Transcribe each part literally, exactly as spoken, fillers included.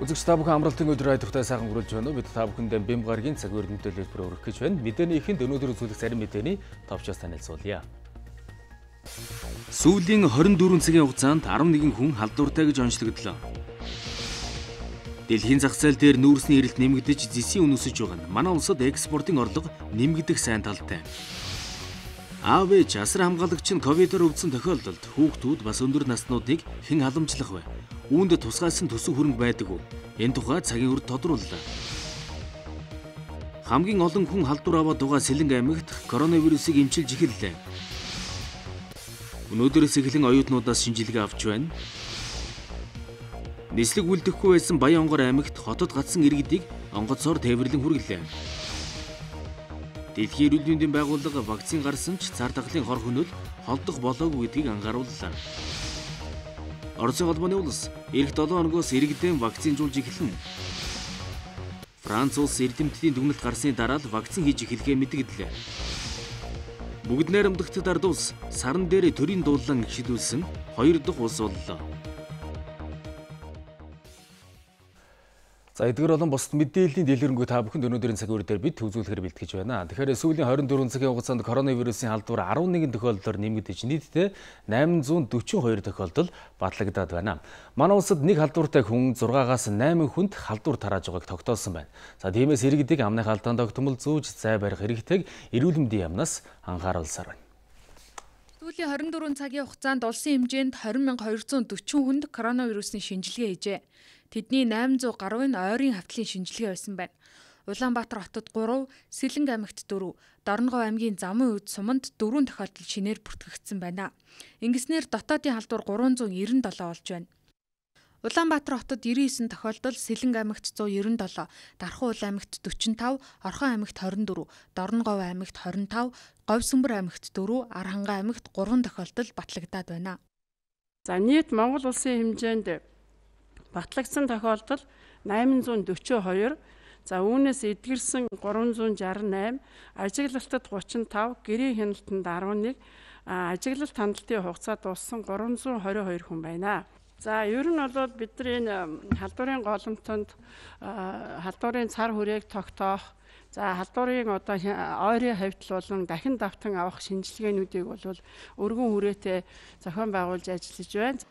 Үзэгч та бүхэн амралтын өдөр айдахтай сайхан хүрэлж байна уу? Бид та бүхэндээ бэм гарагийн цаг үеэр мэдээлэл өргөх гэж байна. Мэдээний ихэнд өнөөдөр үзүүлэх зарим мэдээний товчоос танилцуулъя. Сүүлийн хорин дөрвөн цагийн хугацаанд арван нэгэн хүн халдвартай гэж онцлогдлоо. Дэлхийн зах зээл дээр нүүрсний эрэлт нэмэгдэж зэсийн үн өсөж байгаа нь манай улсад экспортын орлого нэмэгдэх сайн талтай. Аав ээж асар хамгаалагч нь ковидоор өвдсөн тохиолдолд хүүхдүүд бас өндөр наснуудыг хэн халамжлах вэ? Үүнд тусгайлсан төсөв хөрөнгө байдаг уу? Энэ тухай цагийн үрд тодрууллаа. Хамгийн олон хүн халдвар аваад байгаа Сэлэнг аймагт коронавирусыг эмчилж эхэллээ. Өнөөдрөөс эхлэн оюутнуудаас шинжилгээ авч байна. Нислэг үлдэхгүй байсан Баян-Онгор аймагт хотод гацсан иргэдийг онгоцоор тээвэрлэн хүргэлээ. Дэлхийн эрүүл мэндийн байгууллага вакцин гарсан ч цар тахлын хор хөнөөл холдох болоогүй гэдгийг анхаарууллаа. Оросын холбооны улс эх долоо хоногоос иргэдэн вакцинжуулж эхэлнэ. Франц улс эрдэмтдийн дүгнэлт гарсны дараа л вакцин хийж эхлэхээ мэдгэлээ. Бүгд найрамдагтад ард улс саран дээр төрийн дуулан шийдүүлсэн хоёр дахь улс боллоо. За эдгээр болон бусад мэдээллийн дэлгэрэнгүй та бүхэнд өнөөдрийн цаг үеэр дээр бид төвлөрөхөөр бэлтгэж байна. Тэгэхээр сүүлийн хорин дөрвөн цагийн хугацаанд коронавирусын халдвар арван нэгэн тохиолдолд нэмэгдэж нийтдээ найман зуун дөрвөн хоёр тохиолдол батлагдаад байна. Манай улсад нэг халдвартай хүн зургаагаас найман хүнд халдвар тарааж байгааг тогтоосон байна. За тиймээс иргэдийг амны халдаанд тогтмол зүүж зай барих хэрэгтэйг эрүүл мэндийн яамнаас анхааруулсаар байна. Сүүлийн хорин дөрвөн цагийн хугацаанд улсын хэмжээнд двадцать мянга двести дөрвөн хүнд коронавирусын шинжилгээ хийжээ. Тэдний найман зуун гаруй нь ойрын хавтлын шинжилгээ байсан байна. Улаанбаатар хотод гурав, Сэлэнг аймагт дөрөв, Дорногов аймгийн Замын үед суманд дөрвөн тохиолдол шинээр бүртгэгдсэн байна. Ингэснээр дотоодын халдвар гурван зуун девяносто долоо болж байна. Улаанбаатар хотод девяносто девять тохиолдол, Сэлэнг аймагт one hundred ninety seven, Дархан аймагт forty five, Орхон аймагт twenty four, Дорногов аймагт twenty five, Говьсөнбөр аймагт four, Архангай аймагт three тохиолдол батлагдаад байна. За нийт Монгол улсын хэмжээнд батлагдсан тохиолдол найман зуун дөрвөн хоёр, за үүнээс эдгэрсэн гурван зуун шестьдесят eight, ажиглалтад thirty five, гэрийн хяналтанд eleven, ажиглалт хяналтын хугацаа дууссан three hundred twenty-two хүн байна. За ер нь бол бидний энэ халдварын голомтонд халдварын цар хүрээг тогтоох, за халдварын одоо ойрын хавьтал болон дахин давтан авах шинжилгээнүүдийг бол өргөн хүрээтэй зохион байгуулж ажиллаж байна.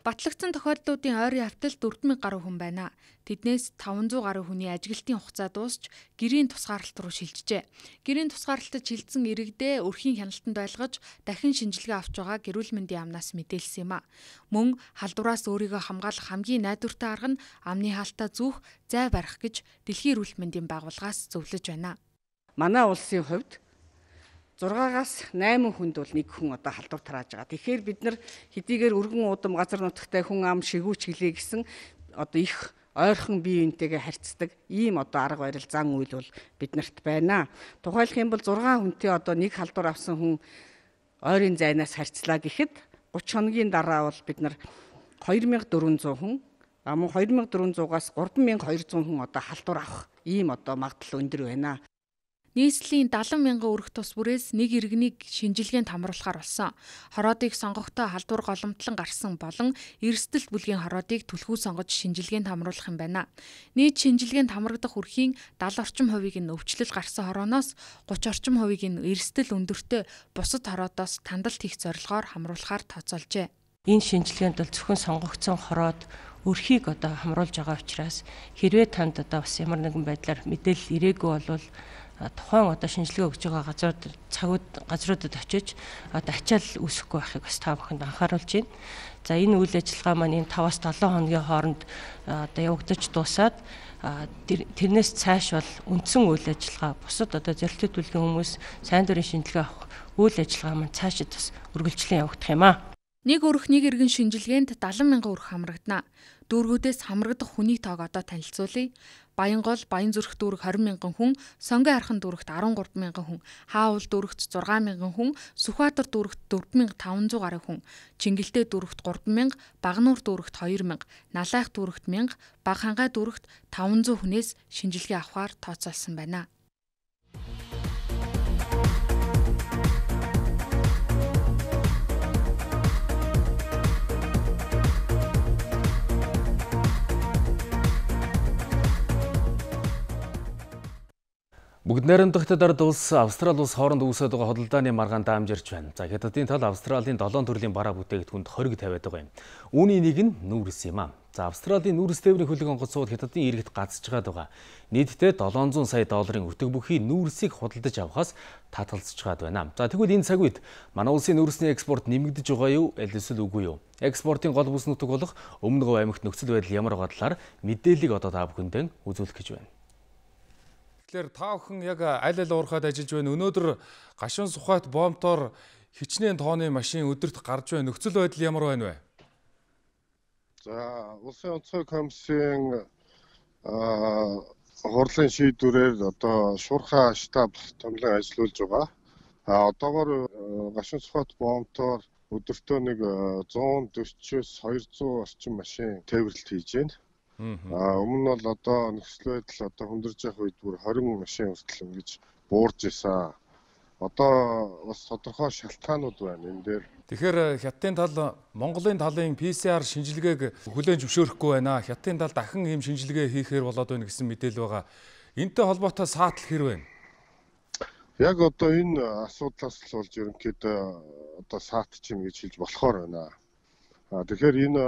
Батлагдсан тохиолдлуудын ойрын хавьтал four thousand гаруй хүн байна. Тэднээс five hundred гаруй хүний ажиглалтын хугацаа дуусч гэрийн тусгаарлалт руу шилжжээ. Гэрийн тусгаарлалтад шилжсэн иргэдээ өрхийн хяналтанд байлгаж дахин шинжилгээ авч байгаа эрүүл мэндийн яамнаас мэдээлсэн юм а. Мөн халдвараас өөрийгөө хамгаалах хамгийн найдвартай арга нь амны хаалтаа зүүх, зай барих гэж Дэлхийн эрүүл мэндийн байгууллагаас зөвлөж байна. Манай улсын хувьд зургаагаас найман хүнд бол нэг хүн одоо халдвар тарааж байгаа. Тэгэхээр бид нар хэдийгээр өргөн удам газар нутагтай хүн ам шигүүч гэлээ гэсэн одоо их ойрхон бие биентэйгээ харьцдаг ийм одоо арга барил зан үйл бол биднэрт байна. Тухайлх юм бол six хүнтэй одоо нэг халдвар авсан хүн ойрын зайнаас харьцлаа гэхэд thirty хоногийн дараа бол бид нар two thousand four hundred хүн, а мөн two thousand four hundred-аас three thousand two hundred хүн одоо халдвар авах ийм одоо магадлал өндөр байна. Нийслэлийн seventy мянган өрх тус бүрээс нэг иргэнийг шинжилгээнд хамруулахаар болсон. Хороодыг сонгохдоо халдвар голомтлон гарсан болон эрсдэл бүлгийн хороодыг түлхүү сонгож шинжилгээнд хамруулах юм байна. Нийт шинжилгээнд хамрагдах өрхийн seventy орчим хувийг нь өвчлөл гарсан хорооноос thirty орчим хувийг нь эрсдэл өндөртэй бусад хороодоос тандалт хийх зорилгоор хамруулахаар тооцоолжээ. Энэ шинжилгээнд бол зөвхөн сонгогдсон хороод өрхийг одоо хамруулж байгаа учраас хэрвээ танд одоо бас ямар нэгэн байдлаар мэдээлэл ирээгүй болвол тухайн одоо шинжилгээ өгж байгаа газрууд цагууд газруудад очиж одоо ачаал үүсэхгүй байхыг бас та бүхэнд анхааруулж байна. За энэ үйл ажиллагаа маань энэ five-аас seven хоногийн хооронд одоо явагдаж дуусаад тэрнээс цааш бол үндсэн үйл ажиллагаа бусад одоо зорилттой төлөвлөгийн хүмүүс сайн дурын шинжилгээ авах үйл ажиллагаа маань цаашид бас үргэлжлэн явагдах юм аа. Нэг өрх нэг иргэн шинжилгээнд seventy мянган өрх хамрагдана. Дүүргүүдээс хамрагдах хүний тоог одоо танилцуулъя. Баянгол, Баянзүрх дүүрэг twenty мянган хүн, Сонгон архан дүүрэгт thirteen мянган хүн, Хаавал дүүрэгт six мянган хүн, Сүхбаатар дүүрэгт four thousand five hundred гаруй хүн, Чингэлтэй дүүрэгт three мянган, Багнуур дүүрэгт two мянган, Налайх дүүрэгт one мянган, Багхангай дүүрэгт five hundred хүнээс шинжилгээ авахар тооцоолсон байна. Бүгд найрамдахтад ард улс Австрали улс хооронд үүсэж байгаа хөдөлдааны маргаан даамжирч байна. За хятадын тал Австралийн долоон төрлийн бараа бүтээгдэхүүнд хориг тавиад байгаа юм. Үүний нэг нь нүүрс юм аа. За Австралийн нүүрс тээврийн хөлөг онгоцууд хятадын иргэд гацж байгаа. Нийтдээ долоон зуун сая долларын өтөг бүхий нүүрсийг худалдаж авахаас татгалзаж байна. За тэгвэл энэ цаг үед манай улсын нүүрсний экспорт нэмэгдэж байгаа юу? Аль эсвэл үгүй юу? Экспортын гол бүс нутаг болох Өмнө Говь аймагт нөхцөл байдал ямар байгаа талаар мэдээллийг одоо та бүхэндээ үзүүлэх гэж байна. Тэгэхээр та бүхэн яг аль аль уурхад ажиллаж байна. Өнөөдөр гашуун сухайт бомбтоор хичнээн тооны машин өдөрт гарч байна. Нөхцөл байдал ямар байна вэ? За, улсын онцгой комиссийн хурлын шийдвэрээр одоо шуурхай штаб томлон ажиллуулж байгаа. А одоогоор гашуун сухайт бомбтоор өдөртөө нэг зуун дөрвөөс хоёрзуун орчим машин тээвэрлэлт хийж байна. А өмнө нь бол одоо нөхцөл байдал одоо хүндэрж явах үед бүр хорин машин хүртэл ингэж буурж исэн. Одоо бас тодорхой шалтгаанууд байна энэ дээр. Тэгэхээр Хятадын тал Монголын талын пи си ар шинжилгээг хүлээн зөвшөөрөхгүй байна. Хятадын тал дахин ийм шинжилгээ хийхээр болоод байна гэсэн мэдээлэл байгаа. Энтэй холбоотой саатал хэр байна? Яг одоо энэ асуудлаас л болж ерөнхийдөө одоо саатчин гэж хэлж болохоор байна. А тэгэхээр энэ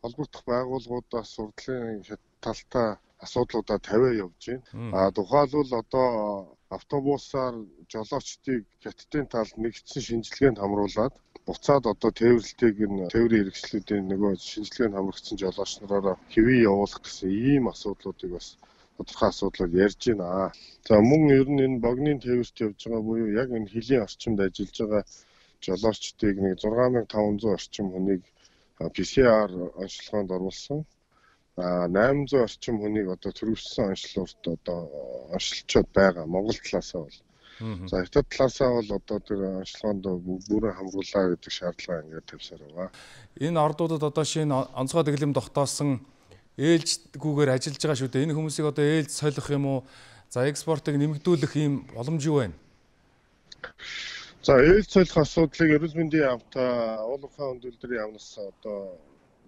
холбогдох байгууллагуудаас сурдлын талтай асуудлуудаа тавиа явж байна. А тухайлбал одоо автобусаар жолоочдыг Хятадын талд нэгдсэн шинжилгээнд хамруулад буцаад одоо тээвэрлэлтийг нь тээврийн хэрэгслүүдийн нөгөө шинжилгээнд хамрагдсан жолооч нараараа хэвээ явуулах гэсэн ийм асуудлуудыг бас тодорхой асуудлууд ярьж байна. За мөн ер нь энэ богны тээвэрт явж байгаа буюу яг энэ хилийн орчимд ажиллаж байгаа жолоочдыг нэг зургаан мянган таван зуун орчим хүнийг пи си ар онцлогоонд оруулсан. А найман зуун орчим хүнийг одоо төрөвчсөн онцлогт одоо онцлолцоод байгаа Монгол талаасаа бол. За Хятад талаасаа бол одоо тэр онцлогоонд бүрэн хамруулаа гэдэг шаардлага ингээд тавьсаар байгаа. Энэ ордуудад одоо шинэ онцгой дэглэм тогтоосон ээлжгүүгээр ажиллаж байгаа шүү дээ. Энэ хүмүүсийг одоо ээлж солих юм уу? За экспортыг нэмэгдүүлэх ийм боломж юу байна? За ээлж солих асуудлыг эрүүл мэндийн яамтай уулуурхай өндөлдрийн яамнаас одоо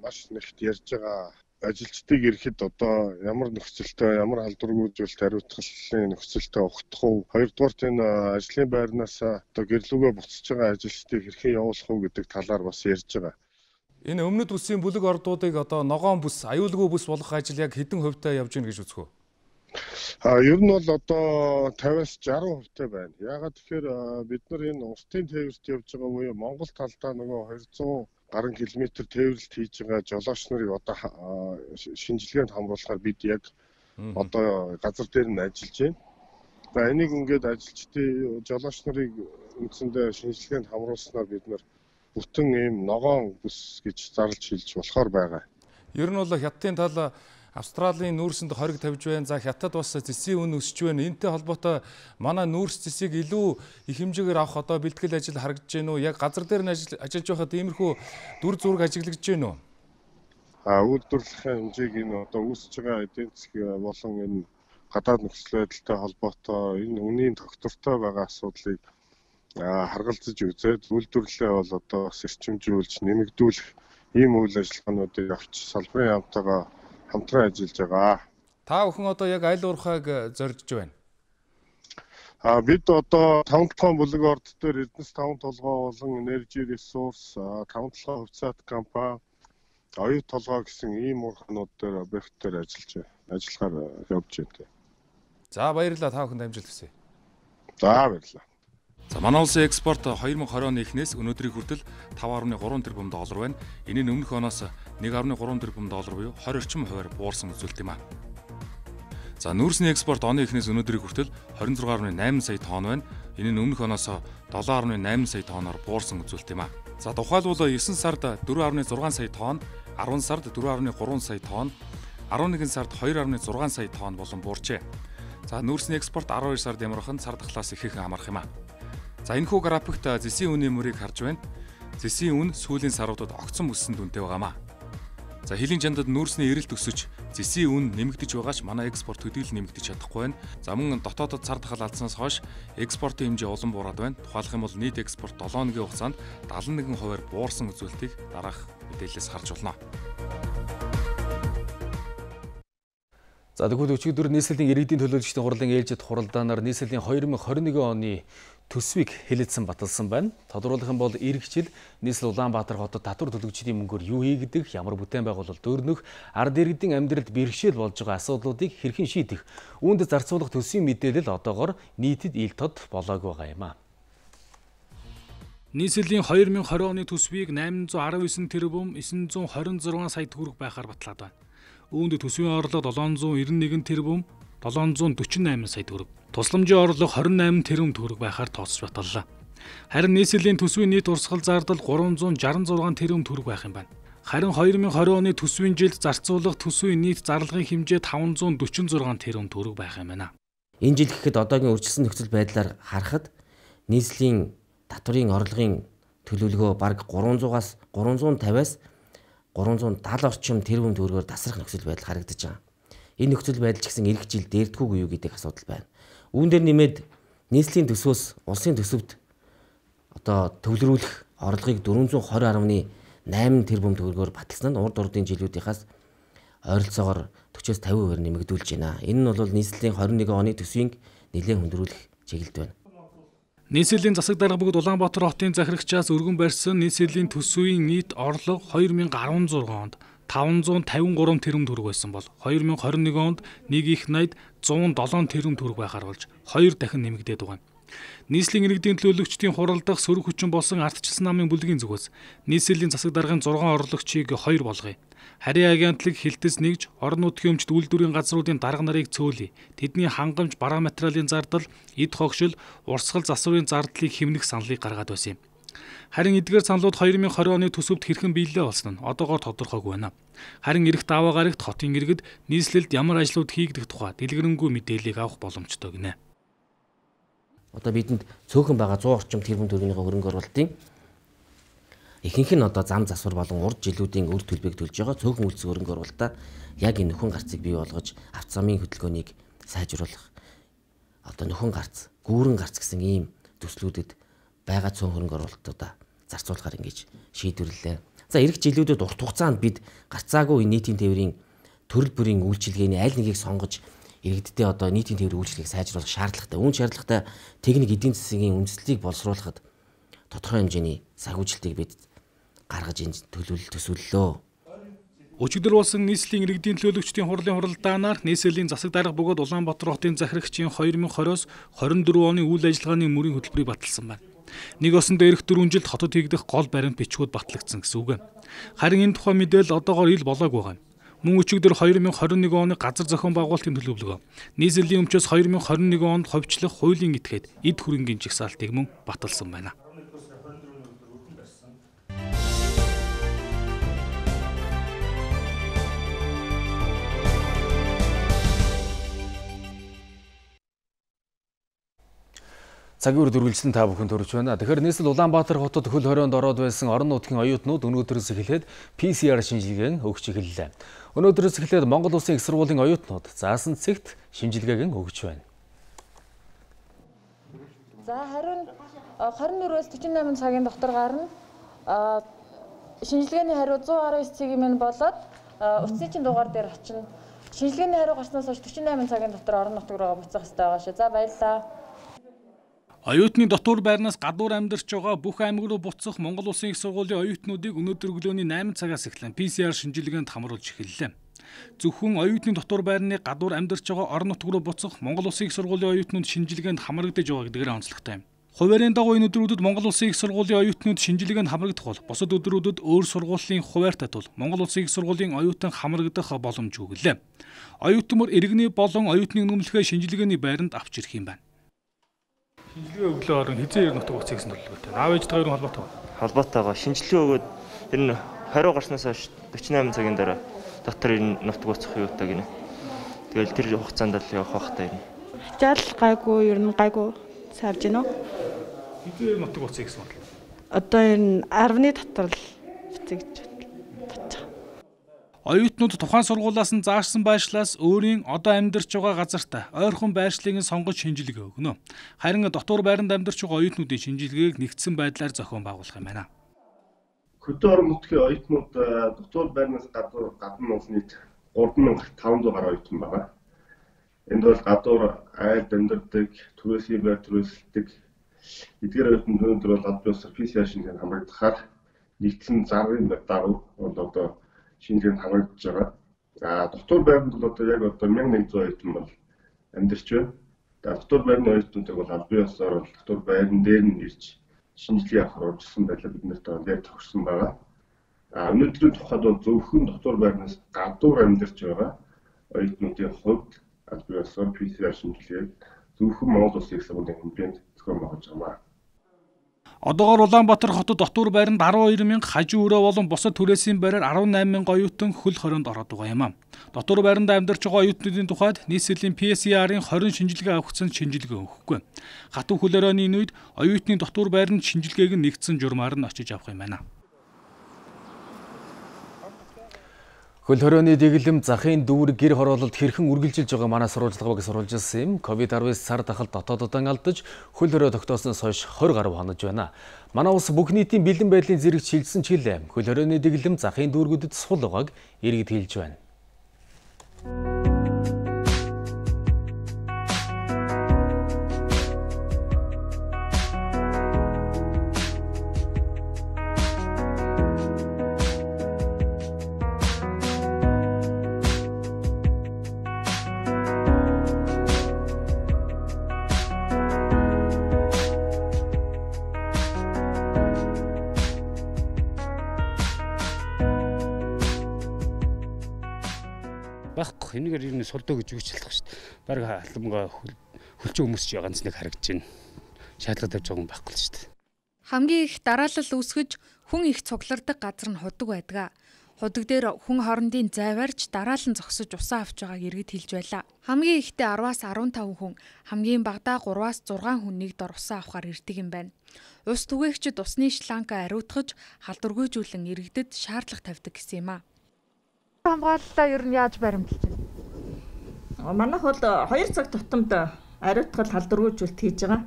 маш нэгт ярьж байгаа. Ажилчдыг ирэхэд одоо ямар нөхцөлтэй, ямар халдваргүйжүүлэлт хариуцлагын нөхцөлтэй ухтах уу? Хоёрдугаарт энэ ажлын байрнаас одоо гэрлүүгээ буцаж байгаа ажилчдыг хэрхэн явуулах уу гэдэг талаар бас ярьж байгаа. Энэ өмнөд бүсийн бүлэг ордуудыг одоо ногоон бүс, аюулгүй бүс болгох ажил яг хэдэн хувьтай явж байна гэж үзэх үү? А ер нь бол одоо тавиас жаргал хувьтай байна. Яагаад тэгэхээр бид нар энэ устын тээвэрт явж байгаа буюу Монгол талдаа нөгөө хоёрзуун гаруй километр тээвэрлэлт хийж байгаа жолооч нарыг одоо шинжилгээнд хамруулахаар бид яг одоо газар дээр нь ажиллаж байна. За энийг ингээд ажилчдын жолооч нарыг үндсэндээ шинжилгээнд хамруулснаар бид нар бүтэн ийм ногоон бүс гэж зарлж хэлж болохоор байгаа. Ер нь бол Хятадын тал Австралийн нүүрсэнд хориг тавьж байна. За Хятад бас зэсийн үн өсөж байна. Энтэй холбоотой манай нүүрс зэсийг илүү их хэмжээгээр авах одоо бэлтгэл ажил харагдаж байна уу? Яг газар дээр нь ажиллаж байхад иймэрхүү дүр зураг ажиглагдаж байна уу? А үйлдвэрлэлийн хэмжээг энэ одоо үүсэж байгаа эдийн засгийн болон энэ гадаад нөхцөл байдалтай холбоотой энэ үнийн тогтвортой байгаа асуудлыг харгалзаж үзээд үйлдвэрлэлээ бол одоо бас эрчимжүүлж нэмэгдүүлэх ийм үйл ажиллагаануудыг авч салбарын яамтайгаа хамтран ажиллаж байгаа. Та бүхэн одоо яг аль уурхайг зорьж байна? А бид одоо таван толгойн бүлэг орд дээр Эрдэнэс таван толгой болон Energy Resource, таван толгой хувьцаат компани, оюу толгой гэсэн ийм уурханууд дээр объект дээр ажиллаж ажиллахаар явж байна. За баярлалаа, та бүхэнд амжилт хүсье. За баярлалаа. За манай улсын экспорт хоёр мянга двадцать оны эхнээс өнөөдрийн хүртэл таван гаруй гурван тэрбум доллар байна. Энэ нь өмнөх оноос нэг гаруй гурван тэрбум доллар буюу двадцать орчим хувиар буурсан үзүүлэлт юм а. За нүүрсний экспорт оны эхнээс өнөөдрийн хүртэл двадцать шесть гаруй найман сая тонн байна. Энэ нь өмнөх оноос seven гаруй найман сая тонноор буурсан үзүүлэлт юм а. За тухайлбал девять сард four гаруй six сая тонн, ten сард four гаруй three сая тонн, eleven сард two гаруй six сая тонн болон буурчээ. За нүүрсний экспорт twelve сард ямархан сар дахлаас ихээхэн амарх юм а. За энэхүү графикт зэсийн үнийн мөрийг харж байна. Зэсийн үн сүүлийн саруудад огцон өссөн дүнтэй байгаамаа. За хилийн чандад нүүрсний эрэлт өсөж зэсийн үн нэмэгдэж байгаач манай экспорт төдийл нэмэгдэж чадахгүй байна. За мөн дотоодод сар дахал алдсанаас хойш экспортын хэмжээ улам буураад байна. Тухайлх юм бол нийт экспорт seven өдрийн хугацаанд seventy-one хувиар буурсан үзүүлэлтийг дараах мэдээлэлээс харж болно. За тэгвэл өчигдөр нийслэлийн иргэдийн төлөөлөгчдийн хурлын ээлжид хуралдаанаар нийслэлийн two thousand twenty-one оны төсвийг хэлэлцэн баталсан байна. Тодорхойлох юм бол иргэжил нийслэл Улаанбаатар хотод татвар төлөгчдийн мөнгөөр юу хийгдэх, ямар бүтээн байгуулалт өөрнөх, ард иргэдийн амьдралд бэрхшээл болж байгаа асуудлуудыг хэрхэн шийдэх, үүнд зарцуулах төсвийн мэдээлэл одоогоор нийтэд ил тод болоогүй байгаа юм а. Нийслэлийн two thousand twenty оны төсвийг eight hundred nineteen тэрбум nine hundred twenty-six сая төгрөг байхаар батлаад байна. Үүнд төсвийн орлого seven hundred ninety-one тэрбум seven hundred forty-eight сая төгрөг, тусламжийн орлого twenty-eight тэрбум төгрөг байхаар тооцож баталлаа. Харин нийслэлийн төсвийн нийт урсгал зардал three hundred sixty-six тэрбум төгрөг байх юм байна. Харин two thousand twenty оны төсвийн жилд зарцуулах төсвийн нийт зарлагын хэмжээ five hundred forty-six тэрбум төгрөг байх юм байна. Энэ жил гэхэд одоогийн үржилсэн нөхцөл байдлаар харахад нийслэлийн татврын орлогын төлөвлөгөө бараг three hundred-аас three fifty-аас three hundred seventy орчим тэрбум төгрөгөөр тасрах нөхцөл байдал харагдаж байгаа. Энэ нөхцөл байдал ч гэсэн эх жил дээрдгүйгүй юу гэдэг асуудал байна. Үүн дээр нэмээд нийслэлийн төсвөөс улсын төсөвт одоо төвлөрүүлэх орлогыг four hundred twenty point eight тэрбум төгрөгөөр баталсан нь урд урдын жилүүдийнхаас ойролцоогоор forty-аас fifty хувиар нэмэгдүүлж байна. Энэ нь бол нийслэлийн twenty-one оны төсвийг нэлээд хүндрүүлэх чиглэлд байна. Нийслэлийн засаг дарга бүгд Улаанбаатар хотын захирагчаас өргөн барьсан нийслэлийн төсвийн нийт орлого two thousand sixteen онд five hundred fifty-three тэрбум төгрөг байсан бол two thousand twenty-one онд нэг их найд one hundred seven тэрбум төгрөг байхаар болж хоёр дахин нэмэгдээд байгаа. Нийслэлийн иргэдийн төлөөлөгчдийн хуралдах сөрөг хүчин болсон ардчилсан намын бүлгийн зүгээс нийслэлийн засаг даргын six орлогчийг two болгоё. Харийн агентлаг хилтэс нэгж орон нутгийн өмчт үйлдвэрийн газруудын дарга нарыг цөөлье. Тэдний хангамж, бараа материалын зардал, эд хогшил, урсгал засварын зардлыг хэмнэх саналыг гаргаад байсан юм. Харин эдгээр саналууд two thousand twenty оны төсөвт хэрхэн биелэлээ болсон нь одоогоор тодорхойгүй байна. Харин эх даваа гарагт хотын иргэд нийслэлд ямар ажлууд хийгдэх тухай дэлгэрэнгүй мэдээллийг авах боломжтой гинэ. Одоо бидэнд цөөхөн байгаа one hundred орчим тэрбум төгрөгийн хөрөнгө оруулалтын ихэнх нь одоо зам засвар болон урд жилүүдийн үр төлбөрийг төлж байгаа цөөхөн үйлчлэг хөрөнгө оруулалтаа яг энэ нөхөн гарцыг бий болгож авто замын хөдөлгөөнийг сайжруулах одоо нөхөн гарц, гүүрэн гарц гэсэн ийм төслүүдэд байгаа цөөн хөрөнгө оруулалтуудаа зарцуулахаар ингэж шийдвэрлэлээ. За эх жилүүдэд урт хугацаанд бид гарцаагүй нийтийн тээврийн төрөл бүрийн үйлчилгээний аль нэгийг сонгож иргэддээ одоо нийтийн тээврийн үйлчлэгийг сайжруулах шаардлагатай. Үүн шаардлагатай техник эдийн засгийн үндэслэлийг боловсруулахад тодорхой хэмжээний санхүүжилтийг бид гаргаж энэ төлөвлөлт төсөөллөө. Өчигдөр болсон нийслэлийн иргэдийн төлөөлөгчдийн хурлын хуралдаанаар нийслэлийн засаг дарга бөгөөд Улаанбаатар хотын захирагчийн two thousand twenty-с twenty-four оны үйл ажиллагааны мөрийн хөтөлбөрийг баталсан байна. Нэг осон дээрх дөрвөн жилд хотод хийгдэх гол баримт бичгүүд батлагдсан гэсэн үг. Харин энэ тухай мэдээлэл одоогоор ил болоогүй байна. Мөн өчигдөр two thousand twenty-one оны газар зохион байгуулалтын төлөвлөгөө нийслэлийн өмчөөс two thousand twenty-one онд ховчлох хуулийн этгээд эд хөрөнгийн жагсаалтыг мөн баталсан байна. Цагийн үр дүргэлжлэн та бүхэн төрж байна. Тэгэхээр нийслэл Улаанбаатар хотод хөл хорионд ороод байсан орон нутгийн оюутнууд өнөөдрөөс эхлээд пи си ар шинжилгээг өгч эхэллээ. Өнөөдрөөс эхлээд Монгол Улсын их сургуулийн оюутнууд заасан цэгт шинжилгээг өгч байна. За харин twenty-four-өөс forty-eight цагийн дотор гарна. Шинжилгээний хариу one hundred nineteen цагийн мань болоод утасны дугаар дээр очино. Шинжилгээний хариу гарснаас хойш forty-eight цагийн дотор орон нутг руу буцах хэрэгтэй байгаа шүү. За баярлалаа. Оюутны дотор байрнаас гадуур амьдарч байгаа бүх аймаг руу буцах Монгол Улсын их сургуулийн оюутнуудыг өнөөдөр өглөөний eight цагаас эхлэн пи си ар шинжилгээнд хамруулж эхэллээ. Зөвхөн оюутны дотор байрны гадуур амьдарч байгаа орон нутг руу буцах Монгол Улсын их сургуулийн оюутнууд шинжилгээнд хамрагдаж байгаа гэдгээр онцлогтой юм. Хуваарийн дагуу энэ өдрүүдэд Монгол Улсын их сургуулийн оюутнууд шинжилгээнд хамрагдах бол бусад өдрүүдэд өөр сургуулийн хуваарьтай тул Монгол Улсын их сургуулийн оюутан хамрагдах боломжгүй гэлээ. Оюутмөр иргэний болон оюутныг нөмлөхөө шинжилгээний байранд авч ирэх юм байна. Шинжилгээ өглөө орон хизээ ер нутаг уцыг гэсэн төлөвлөгөөтэй. Аав ээжтэй хоёрын холбоотой. Холбоотойгоо шинжилгээ өгөөд ер нь хариу гарснаас хойш forty-eight цагийн дараа дотор ер нь нутаг уцах юутай гинэ. Тэгэл тэр хугацаанд л явах байхтай юм. Жал гайгүй ер нь гайгүй сарж гинөө. Хизээ нутаг уцыг гэсэн бодлоо. Одоо ер нь ten дотор л бицэг гэж бодлоо. Оюутнууд тухайн сургуулиас нь заашсан байршлаас өөрийн одоо амьдарч байгаа газартаа ойрхон байршлыг сонгож шинжилгээ өгнө. Харин дотор байранд амьдарч байгаа оюутнуудын шинжилгээг нэгдсэн байдлаар зохион байгуулах юм байна. Хөдөө орон нутгийн оюутнууд дотор байрнаас гадуур гадна улс нийт three thousand five hundred гаруй оюутан байгаа. Энд бол гадуур айлд амьдардаг, түрээсийн байр түрээсэлдэг эдгээр оюутнууд өнөөдөр бол аль биесээр пи си ар шинжилгээнд хамрагдахаар нэгдсэн зарын дагуу одоо шинжилгээнд хамрагдаж байгаа. А дотор байранд бол одоо яг одоо мянга нэгдсэн оюутан бол амьдарч байна. Дотор байрны оюутнуудыг бол аль биесээр бол дотор байран дээр нь ирж шинжилгээ авах урьдчилсан байдлаар бид нарт дээр тохирсон байгаа. А өнөөдрийн тухайд бол зөвхөн дотор байрнаас гадуур амьдарч байгаа оюутнуудын хувьд аль биесээр пи си ар шинжилгээг зөвхөн Монгол Улсын их сургуулийн хэмжээнд зохион байгуулж байгаа. Одоогоор Улаанбаатар хотод дотор байранд арван хоёр мянга, хажуу өрөө болон бусад түрээсийн байраар арван найман мянга оюутан хөл хорионд ороод байгаа юм а. Дотор байранд амьдарч байгаа оюутнуудын тухайд нийслэлийн пи си арын хорин шинжилгээ авахсан шинжилгээ өгөхгүй. Хатуу хөл хорионы энэ үед оюутны дотор байранд шинжилгээг нэгдсэн журмаар нь очиж авах юм байна. Хөл хорионы дэглэм захын дүүрэг гэр хороололд хэрхэн үргэлжилж байгаа манай сурвалжлагыг сурвалжилсан юм. ковид дасагүй сар дахалт дотооддоо алдаж хөл хорой тогтоосноос хойш двадцать гаруй хонож байна. Манай улс бүх нийтийн бэлэн байдлын зэрэг шилжсэн ч гэлээ. Хөл хорионы дэглэм захын дүүргүүдэд сул байгааг иргэд хэлж байна. Байхгүй энэгээр ер нь сулдоо гэж үгч хэлдэг шүү дээ. Бараг халамга хөлчөө хүмүүс ч ганц нэг харагдаж байна. Шаардлагатай тавьж байгаа юм байхгүй л шүү дээ. Хамгийн их дараалал үүсгэж хүн их цуглардаг газар нь худаг байдаг. Худаг дээр хүн хоорондын зайварч дараалан зогсож усаа авч байгааг иргэд хэлж байлаа. Хамгийн ихтэй араваас арван таван хүн, хамгийн багадаа гураваас зургаан хүн нэг дор усаа авахар ирдэг юм байна. Ус түгээгчид усны шланга ариутгаж халдваргүйжүүлэн иргэдэд шаардлага тавьдаг гэсэн юм а. Хамгааллаа ер нь яаж баримталж байна? Манайх бол хоёр цаг тутамд ариутгал халдваргүйжүүлэлт хийж байгаа.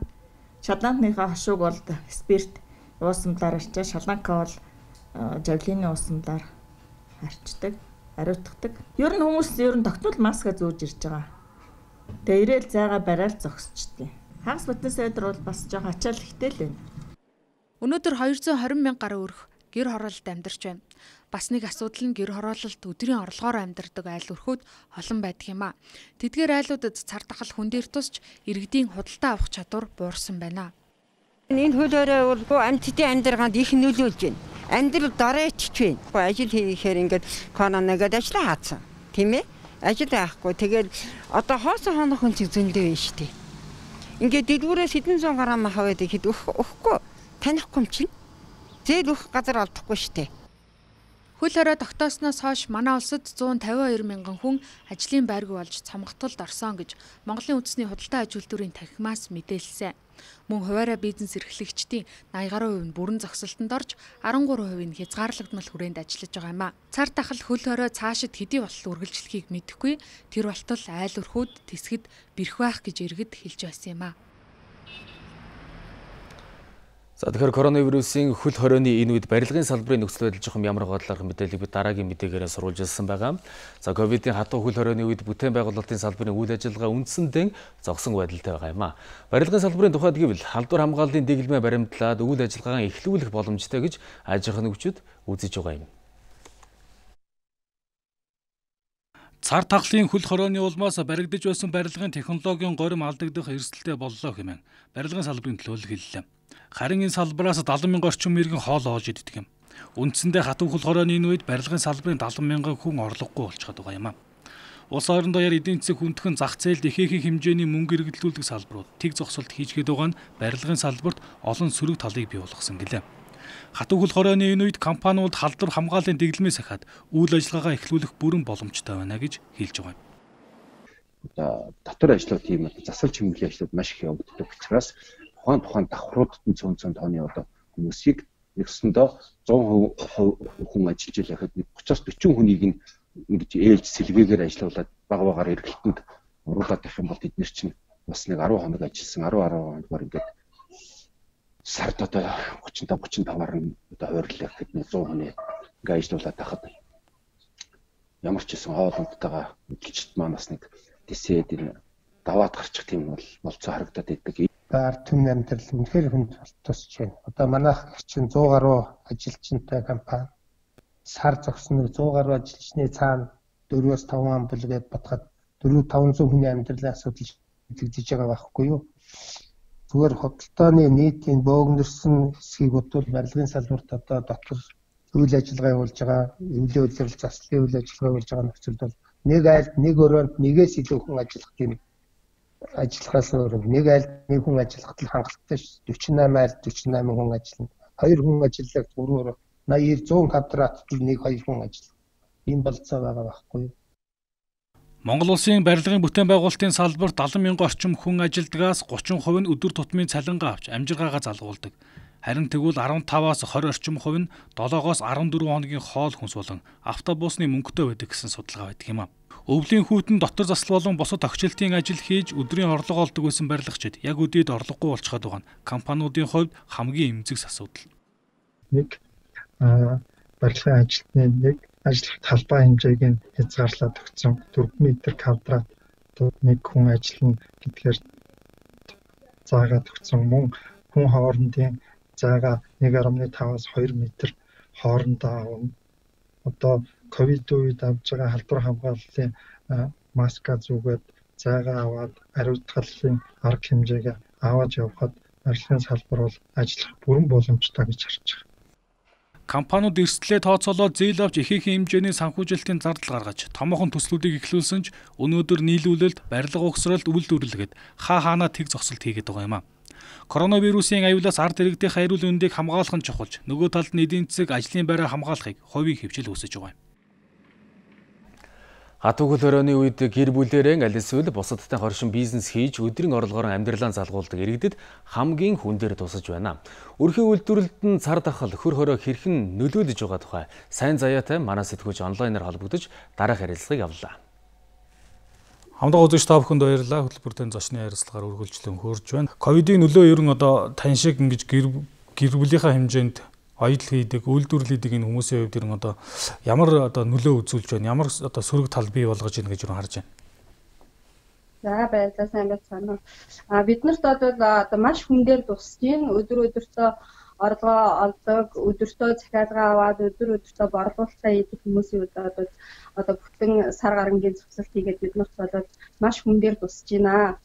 Шалаантныхаа хашууг бол спирт уусамлаар арчаа, шалаанка бол жавлины уусамлаар арчдаг, ариутгадаг. Ер нь хүмүүс ер нь тогтмол маска зөөж ирж байгаа. Тэгээ ирээл зайгаа барайл зогсчихдээ. Хагас бүтэн сайдар бол бас жоо ачаал ихтэй л байна. Өнөөдөр двести мянга гаруй өрх гэр хороололд амьдарч байна. Бас нэг асуудал нь гэр хороололт өдрийн орлогоор амьдардаг айл өрхүүд олон байдаг юм а. Тэдгээр айлуудад цар тахал хүн дээр тусч иргэдийн худалдаа авах чадвар буурсан байна. Энэ хөл хорой бол амьтдын амьдралд их нөлөөлж байна. Амьдрал доройч байна. Ажил хийхээр ингээд коронавигээд ажиллаа хаацсан. Тийм ээ? Ажил авахгүй. Тэгээд одоо хоосон хонох хүн чинь зөндөө байна шүү дээ. Ингээд дэлгүүрээс хэдэн зуун грамм хаваад ихэд өгөхгүй. Танихгүй юм чинь. Зээл өгөх газар олдохгүй шүү дээ. Хөл хорой тогтоосноос хойш манай улсад зуун тавин хоёр мянган хүн ажлын байргүй болж цомгтолд орсон гэж Монголын үндэсний худалдаа аж үйлдвэрийн танхимаас мэдээлсэн. Мөн хуваарай бизнес эрхлэгчдийн наяз гаруй хувь нь бүрэн зогсолтод орж арван гурван хувь нь хязгаарлагдмал хүрээнд ажиллаж байгаа юм а. Цар тахал хөл хорой цаашид хэдий болтол үргэлжлэхийг мэдэхгүй тэр болтол айл өрхүүд тэсгэд бэрх байх гэж иргэд хэлж байсан юм а. За тэгэхээр коронавирусын хөл хорионы энэ үед барилгын салбарын нөхцөл байдал жоохон ямар бодлоор мэдээллийг бид дараагийн мэдээгээрээ сурвалжилсан байгаа. За ковидын хатуу хөл хорионы үед бүтээн байгуулалтын салбарын үйл ажиллагаа үндсэндээ зогсон байдалтай байгаа юм а. Барилгын салбарын тухайд гэвэл халдвар хамгааллын дэглэмээ баримтлаад үйл ажиллагаагаа эхлүүлэх боломжтой гэж аж ахуйн нэгжүүд үзэж байгаа юм. Цар тахлын хөл хорионы улмаас баригдаж байсан барилгын технологийн горим алдагдах эрсдэлтэй боллоо хэмээн барилгын салбарын төлөөлөл хэллээ. Харин энэ салбараас дадлан мянган орчим иргэн хоол оож иддэг юм. Үндсэндээ хатуу хөл хорионы энэ үед барилгын салбарын дадлан мянган хүн орлогогүй болчиход байгаа юм а. Улс орон даяар эдийн засаг хүндхэн зах зээлд ихээхэн хэмжээний мөнгө эргэлдүүлдэг салбарууд тэг зогсолт хийчгээд байгаа нь барилгын салбарт олон сөрөг талыг бий болгосон гэлээ. Хатуу хөл хорионы энэ үед компаниуд халдвар хамгааллын дэглэмээс ахаад үйл ажиллагаагаа эхлүүлэх бүрэн боломжтой байна гэж хэлж байгаа юм. Одоо дотор ажлууд тийм засвар чимэглэлийн ажлууд маш их явагддаг учраас тухайн тухайн давхруудад нь цөөн цөөн тооны одоо хүмүүсийг нэгсэндээ зуун хүн ажиллаж байхад тридцаас дөрвөн хүнийг нь ингэж ээлж сэлгээгээр ажиллуулад баг багаар эргэлтэнд оруулаад байх юм бол тэд нар чинь бас нэг арван хоног ажилласан арван арван хоногор ингээд сард одоо тридцать тридцать таваар нь одоо хойрлох гэдэг нэг зуун хүний ингээд ажиллуулад байхад ямар ч гэсэн хоолндтойгоо эдгчд маань бас нэг тэсээд даваад гарчих тийм бол болцоо харагдаад идэг. Ард түмний амьдрал үнэхээр хүнд тусч байна. Одоо манайх чинь сто гаруй ажилчинтай компани сар зогсног сто гаруй ажилчны цаана дөрвөөс таван ам бүлгээд батгаад дөрвөн таванзан хүний амьдралын асуудал шийдэгдэж байгаа байхгүй юу? Зүгээр хөдөлтооны нийтийн бөөгнөрсөн хэсгийг бодвол барилгын салбарт одоо дотор үйл ажиллагаа явуулж байгаа, эвлэн удирдал заслын үйл ажиллагаа явуулж байгаа нөхцөлд бол нэг айлд нэг өрөөнд нэгээс илүү хүн ажиллах тийм ажиллахаас өөр нэг айлд нэг хүн ажиллахад л хангалттай шүү. дөрвөн восемь айлд дөрвөн восемь хүн ажиллана. Хоёр хүн ажиллах гурван наяар зуун квадрат нэг хоёр хүн ажиллах. Ийм болцоо байгаа байхгүй юу? Монгол улсын барилгын бүтээн байгуулалтын салбарт далайн мянган орчим хүн ажилдгаас гучин хувь нь өдөр тутмын цалингаа авч амжиргаагаа залгуулдаг. Харин тэгвэл арван таваас хорь орчим хувь нь долоогоос арван дөрвөн хоногийн хоол хүнс болон автобусны мөнгөтэй байдаг гэсэн судалгаа байдаг юм а. Өвлийн хүйтэн дотор засал болон бусад тогтчлтын ажил хийж өдрийн орлого олдог байсан барилгачид яг үдээд орлогогүй болчиход байгаа нь компаниудын хувьд хамгийн эмзэгс асуудал. Нэг барилгын ажилтны нэг ажлах талбай хэмжээг нь хязгаарлаад өгсөн дөрвөн метр квадрат нэг хүн ажиллана гэдгээр заагаад өгсөн мөн хүн хоорондын зайгаа нэг гаруй таваас хоёр метр хоорондоо авна. Одоо ковид үед авж байгаа халдвар хамгааллын маска зүгээд зайгаа аваад ариутгалын арга хэмжээгээ аваад явхад барилгын салбар бол ажиллах бүрэн боломжтой гэж харж байгаа. Компаниуд эрсдлээ тооцоолоод зээл авч ихээхэн хэмжээний санхүүжилтийн зардал гаргаж томоохон төслүүдийг эхлүүлсэн ч өнөөдөр нийлүүлэлт, барилга угсралт, үйлдвэрлэгээд хаа хаанаа тэг зогсолт хийгээд байгаа юм а. Коронавирусын аюулаас ард иргэдийн хариул үндийг хамгаалах нь чухалж, нөгөө талд нь эдийн засаг ажлын байраа хамгаалахыг хувийн хөвчл үүсэж байгаа юм. Хатуугл оройны үед гэр бүлээрээ аль эсвэл бусадтай хоршин бизнес хийж өдрийн орлогоор амьдралаа залгуулдаг иргэдэд хамгийн хүн дээр тусаж байна. Өрхийн үйлдвэрлэлд нь цар тахал хөр хороо хэрхэн нөлөөлөж байгаа тухай сайн заяатай манай сэтгүүлч онлайнаар холбогдож дараах ярилцлагыг авлаа. Хамдаа үзэгч та бүхэнд баярлалаа. Хөтөлбөртөө зочны ярилцлагаар үргэлжлэн хөрж байна. Ковидын нөлөө ер нь одоо тань шиг ингэж гэр гэр бүлийнхаа хэмжээнд аялал хийдэг, үйлдвэрлэл хийдэг энэ хүмүүсийн хувьд ер нь одоо ямар одоо нөлөө үзүүлж байна? Ямар одоо сөрөг тал бий болгож байна гэж юу харж байна? За баярлалаа, сайн байцгаана уу. А биднэрт одоо одоо маш хүн дээр тусж байна. Өдөр өдөртөө орлогоо олдог, өдөртөө захиалгаа аваад өдөр өдөртөө борлуулалтаа хийдэг хүмүүсийн үед одоо одоо бүтэн сар гарангийн зохицолт хийгээд биднэрт болоод маш хүн дээр тусж байна.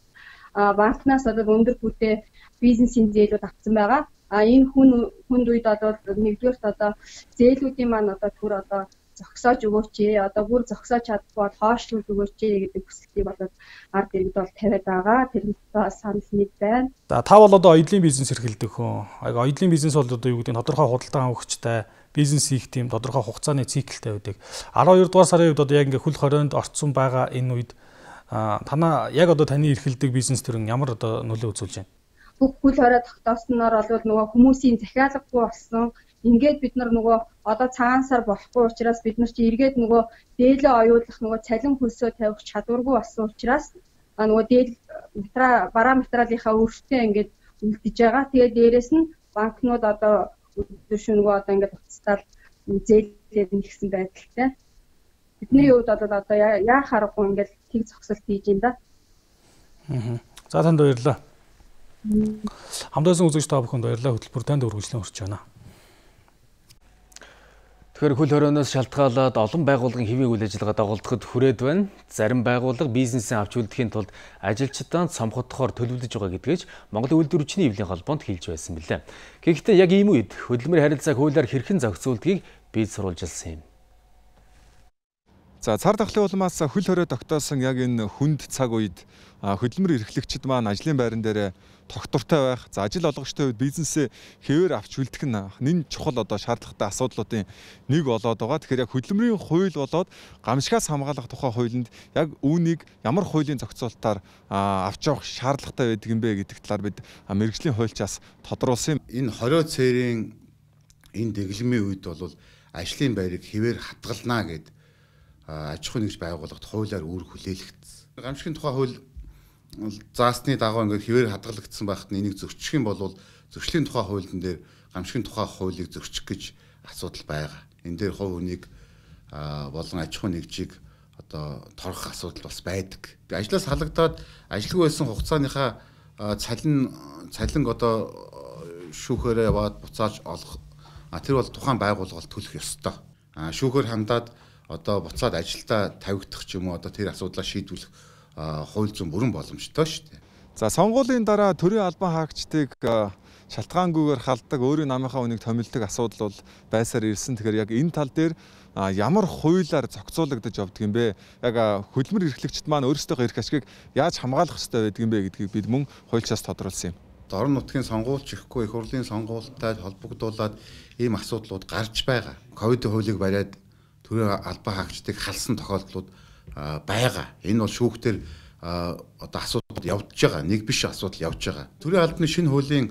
А банкнаас одоо өндөр бүтээ бизнесийн зээлүүд авсан байгаа. А энэ хүн хүнд үед одоо нэгдүгээрт одоо зээлүүдийн маань одоо түр одоо зогсоож өгөөч ээ, одоо бүр зогсоож чадахгүй бол хоошлуулж өгөөч ээ гэдэг хүсэлтийг болоод ард иргэд бол тавиад байгаа. Тэрнээ санал нэг байна. За та бол одоо оюутлын бизнес эрхэлдэг хүн. Оюутлын бизнес бол одоо юу гэдэг нь тодорхой худалдан авахчтай бизнес хийх тийм тодорхой хугацааны циклтэй байдаг. арван хоёр дугаар сарын үед одоо яг ингээ хөл хорионд орцсон байгаа энэ үед танаа яг одоо таны эрхэлдэг бизнес төрн ямар одоо нөлөө үзүүлж байна? Бүх хөл хорой тогтоосноор бол нөгөө хүмүүсийн захиалгагүй болсон. Ингээд бид нар нөгөө одоо цагаан сар болохгүй учраас бид нар чи эргээд нөгөө дээлээ оюулах нөгөө цалин хөлсөө тавих чадваргүй болсон учраас нөгөө дээл метра бараа материалынхаа өртөө ингээд үлдэж байгаа. Тэгээд дээрэс нь банкнууд одоо өдөр шөнөгөө одоо ингээд уцтаал зээлээд нэгсэн байдалтай. Бидний хувьд бол одоо яах аргагүй ингээд тэг зогсолт хийж байна да. Аа. За танд баярлалаа. Хамдаасан үзэгч та бүхэнд баярлалаа. Хөтөлбөр танд үргэлжлэн хүрч байна. Тэгэхээр хөл хорионоос шалтгаалаад олон байгууллагын хэвийн үйл ажиллагаа дагуулдахад хүрээд байна. Зарим байгууллага бизнесийн авч үлдэхийн тулд ажилчдаа цомхотхоор төлөвлөж байгаа гэдгийг Монгол үйлдвэрчний эвлийн холбоонд хэлж байсан билээ. Гэхдээ яг ийм үед хөдөлмөр харилцааг хуулиар хэрхэн зохицуулдгийг бид сурвалжилсан юм. За цар тахлын улмаас хөл хорой тогтоосон яг энэ хүнд цаг үед хөдөлмөр эрхлэгчид маань ажлын байран дээр тогтвортой байх, за ажил олгогчтой үед бизнесээ хэвээр авч үлдэх нь нэн чухал одоо шаардлагатай асуудлуудын нэг болоод байгаа. Тэгэхээр яг хөдөлмөрийн хууль болоод гамшигаас хамгаалах тухай хуулинд яг үүнийг ямар хуулийн зохицуулалтаар авч явах шаардлагатай байдаг юм бэ гэдэг талаар бид мэргэжлийн хуульчаас тодруулсан юм. Энэ хорой цээрийн энэ дэглэмийн үед бол ажлын байрыг хэвээр хадгалнаа гэд аж ахуйн нэгж байгууллагт хуулиар үүрэг хүлээлгдсэн. Гамшигын тухай хууль заасны дагуу ингээд хэвээр хадгалагдсан байхад энийг зөрчих юм бол зөрчлийн тухай хуулийн дээр гамшигын тухай хуулийг зөрчих гэж асуудал байгаа. Энэ дээр хувь хүнийг болон аж ахуйн нэгжийг одоо торох асуудал бас байдаг. Ажлаас халагдаад ажилгүй байсан хугацааныхаа цалин цалин одоо шүүхээрээ яваад буцааж олох тэр бол тухайн байгууллага төлөх ёстой. Шүүхээр хандаад одоо буцаад ажилдаа тавигдах ч юм уу одоо тэр асуудлаа шийдвэрлэх хууль зүйн бүрэн боломжтой шүү дээ. За сонгуулийн дараа төрийн албан хаагчдыг шалтгаангүйгээр халддаг, өөрийн намынхаа үнийг томилдог асуудал бол байсаар ирсэн. Тэгэхээр яг энэ тал дээр ямар хуулиар зохицуулагдаж явдаг юм бэ? Яг хөдөлмөр эрхлэгчид маань өөрсдийнхөө эрх ашгийг яаж хамгаалах ёстой байдаг юм бэ гэдгийг бид мөн хуульчаас тодруулсан юм. Орон нутгийн сонгуульч ихгүй их хурлын сонгуультай холбогдуулаад ийм асуудлууд гарч байгаа. Ковидын хуулийг бариад төрийн албан хаагчдыг халсан тохиолдлууд байгаа. Энэ бол шүүхтэр одоо асуудал явж байгаа. Нэг биш асуудал явж байгаа. Төрийн албаны шинэ хуулийн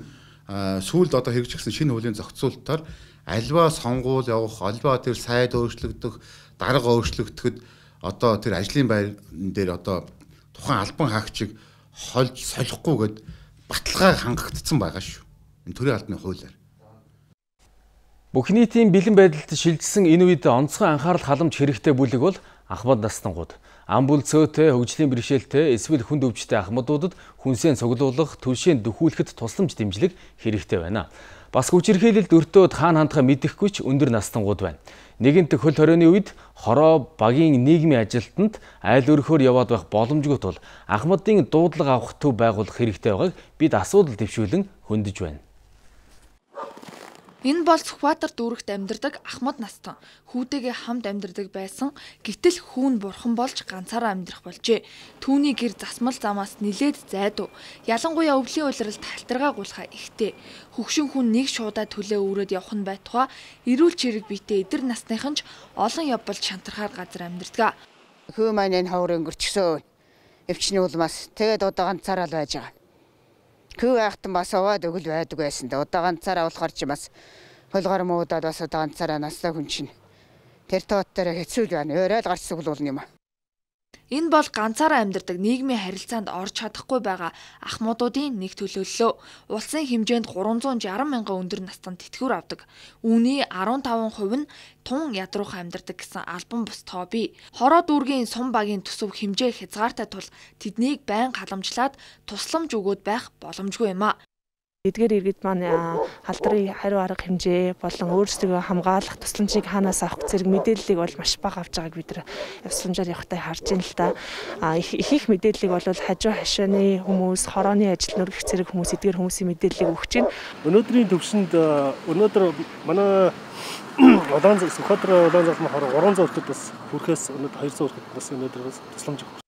сүүлд одоо хэрэгжигдсэн шинэ хуулийн зохицуулалтаар альва сонгуул явах, альва тэр сайд өөрчлөгдөх, дарга өөрчлөгдөхөд одоо тэр ажлын байр дээр одоо тухайн албан хаагчийг хольж солихгүйгээд баталгаа хангагдсан байгаа шүү. Энэ төрийн албаны хуулиар. Бүх нийтийн бэлэн байдалд шилжсэн энэ үед онцгой анхаарал халамж хэрэгтэй бүлэг бол ахмад настангууд. Ам бүл цөөтэй, хөгжлийн бэрхшээлтэй, эсвэл хүнд өвчтэй ахмадуудад хүнсээ цуглуулах, түлшээ дөхүүлэхэд тусламж дэмжлэг хэрэгтэй байна. Бас хүчирхийлэлд өртөөд хаана хандхаа мэдэхгүй ч өндөр настангууд байна. Нэгэнт хөл хорионы үед хороо багийн нийгмийн ажилтнанд айл өрхөөр яваад байх боломжгүй тул ахмадын дуудлага авах төв байгуулах хэрэгтэй байгааг бид асуудал дэвшүүлэн хөндөж байна. Энэ бол Сүхбаатар дүүрэгт амьдардаг ахмад настан. Хүүдээгээ хамт амьдардаг байсан. Гэтэл хүүн бурхан болж ганцаараа амьдрах болжээ. Түүний гэр засмал замаас нилээд зайдуу. Ялангуяа өвлийн улиралд талтаргаа гулхаа ихтэй. Хөгшин хүн нэг шуудаа төлөө өрөөд явах нь байтугай эрүүл чирэг биетэй эдэр насныхан ч олон явбал шантархаар газар амьдардаг. Хөө маань энэ ховор өнгөрчсөн. Эвчний улмаас тэгээд удаа ганцаараа л байж байгаа. Хөө айхтан бас аваад өгөл байдаг байсан да. Удаа ганцаараа болохоор ч бас хөлгөр муудаад бас удаа ганцаараа настай хүн чинь. Тэр тоот дээр хэцүү байна. Өөрөө л гарч суглуулна юм аа. Энэ бол ганцаараа амьдардаг нийгмийн харилцаанд орж чадахгүй байгаа ахмадуудын нэг төлөөллөө. Улсын хэмжээнд гурван зуун жаргал мянган өндөр настан тэтгэвэр авдаг. Үүний арван таван хувь нь тун ядруухан амьдардаг гэсэн албан бус тоо бий. Хороо дүүргийн сум багийн төсөв хэмжээ хязгаартай тул тэднийг байн халамжлаад тусламж өгөөд байх боломжгүй юм а. Эдгээр иргэд маань халдрын хариу арга хэмжээ болон өөрсдөө хамгаалах тусламжийг хаанаас авах зэрэг мэдээллийг бол маш бага авж байгааг бид нар явсламжаар явахтай харж байна л да. Их их мэдээллийг бол хажуу хашааны хүмүүс, хорооны ажил нүргэх зэрэг хүмүүс эдгээр хүмүүсийн мэдээллийг өгч байна. Өнөөдрийн төвшөнд өнөөдөр манай Улаан Сүхбаатар Улаан залмын хороо гурван зуун хүрэхэд бас хүрэхээс өнөөдөр хоёр зуун хүрэхэд бас өнөөдөр бас тусламж өгч.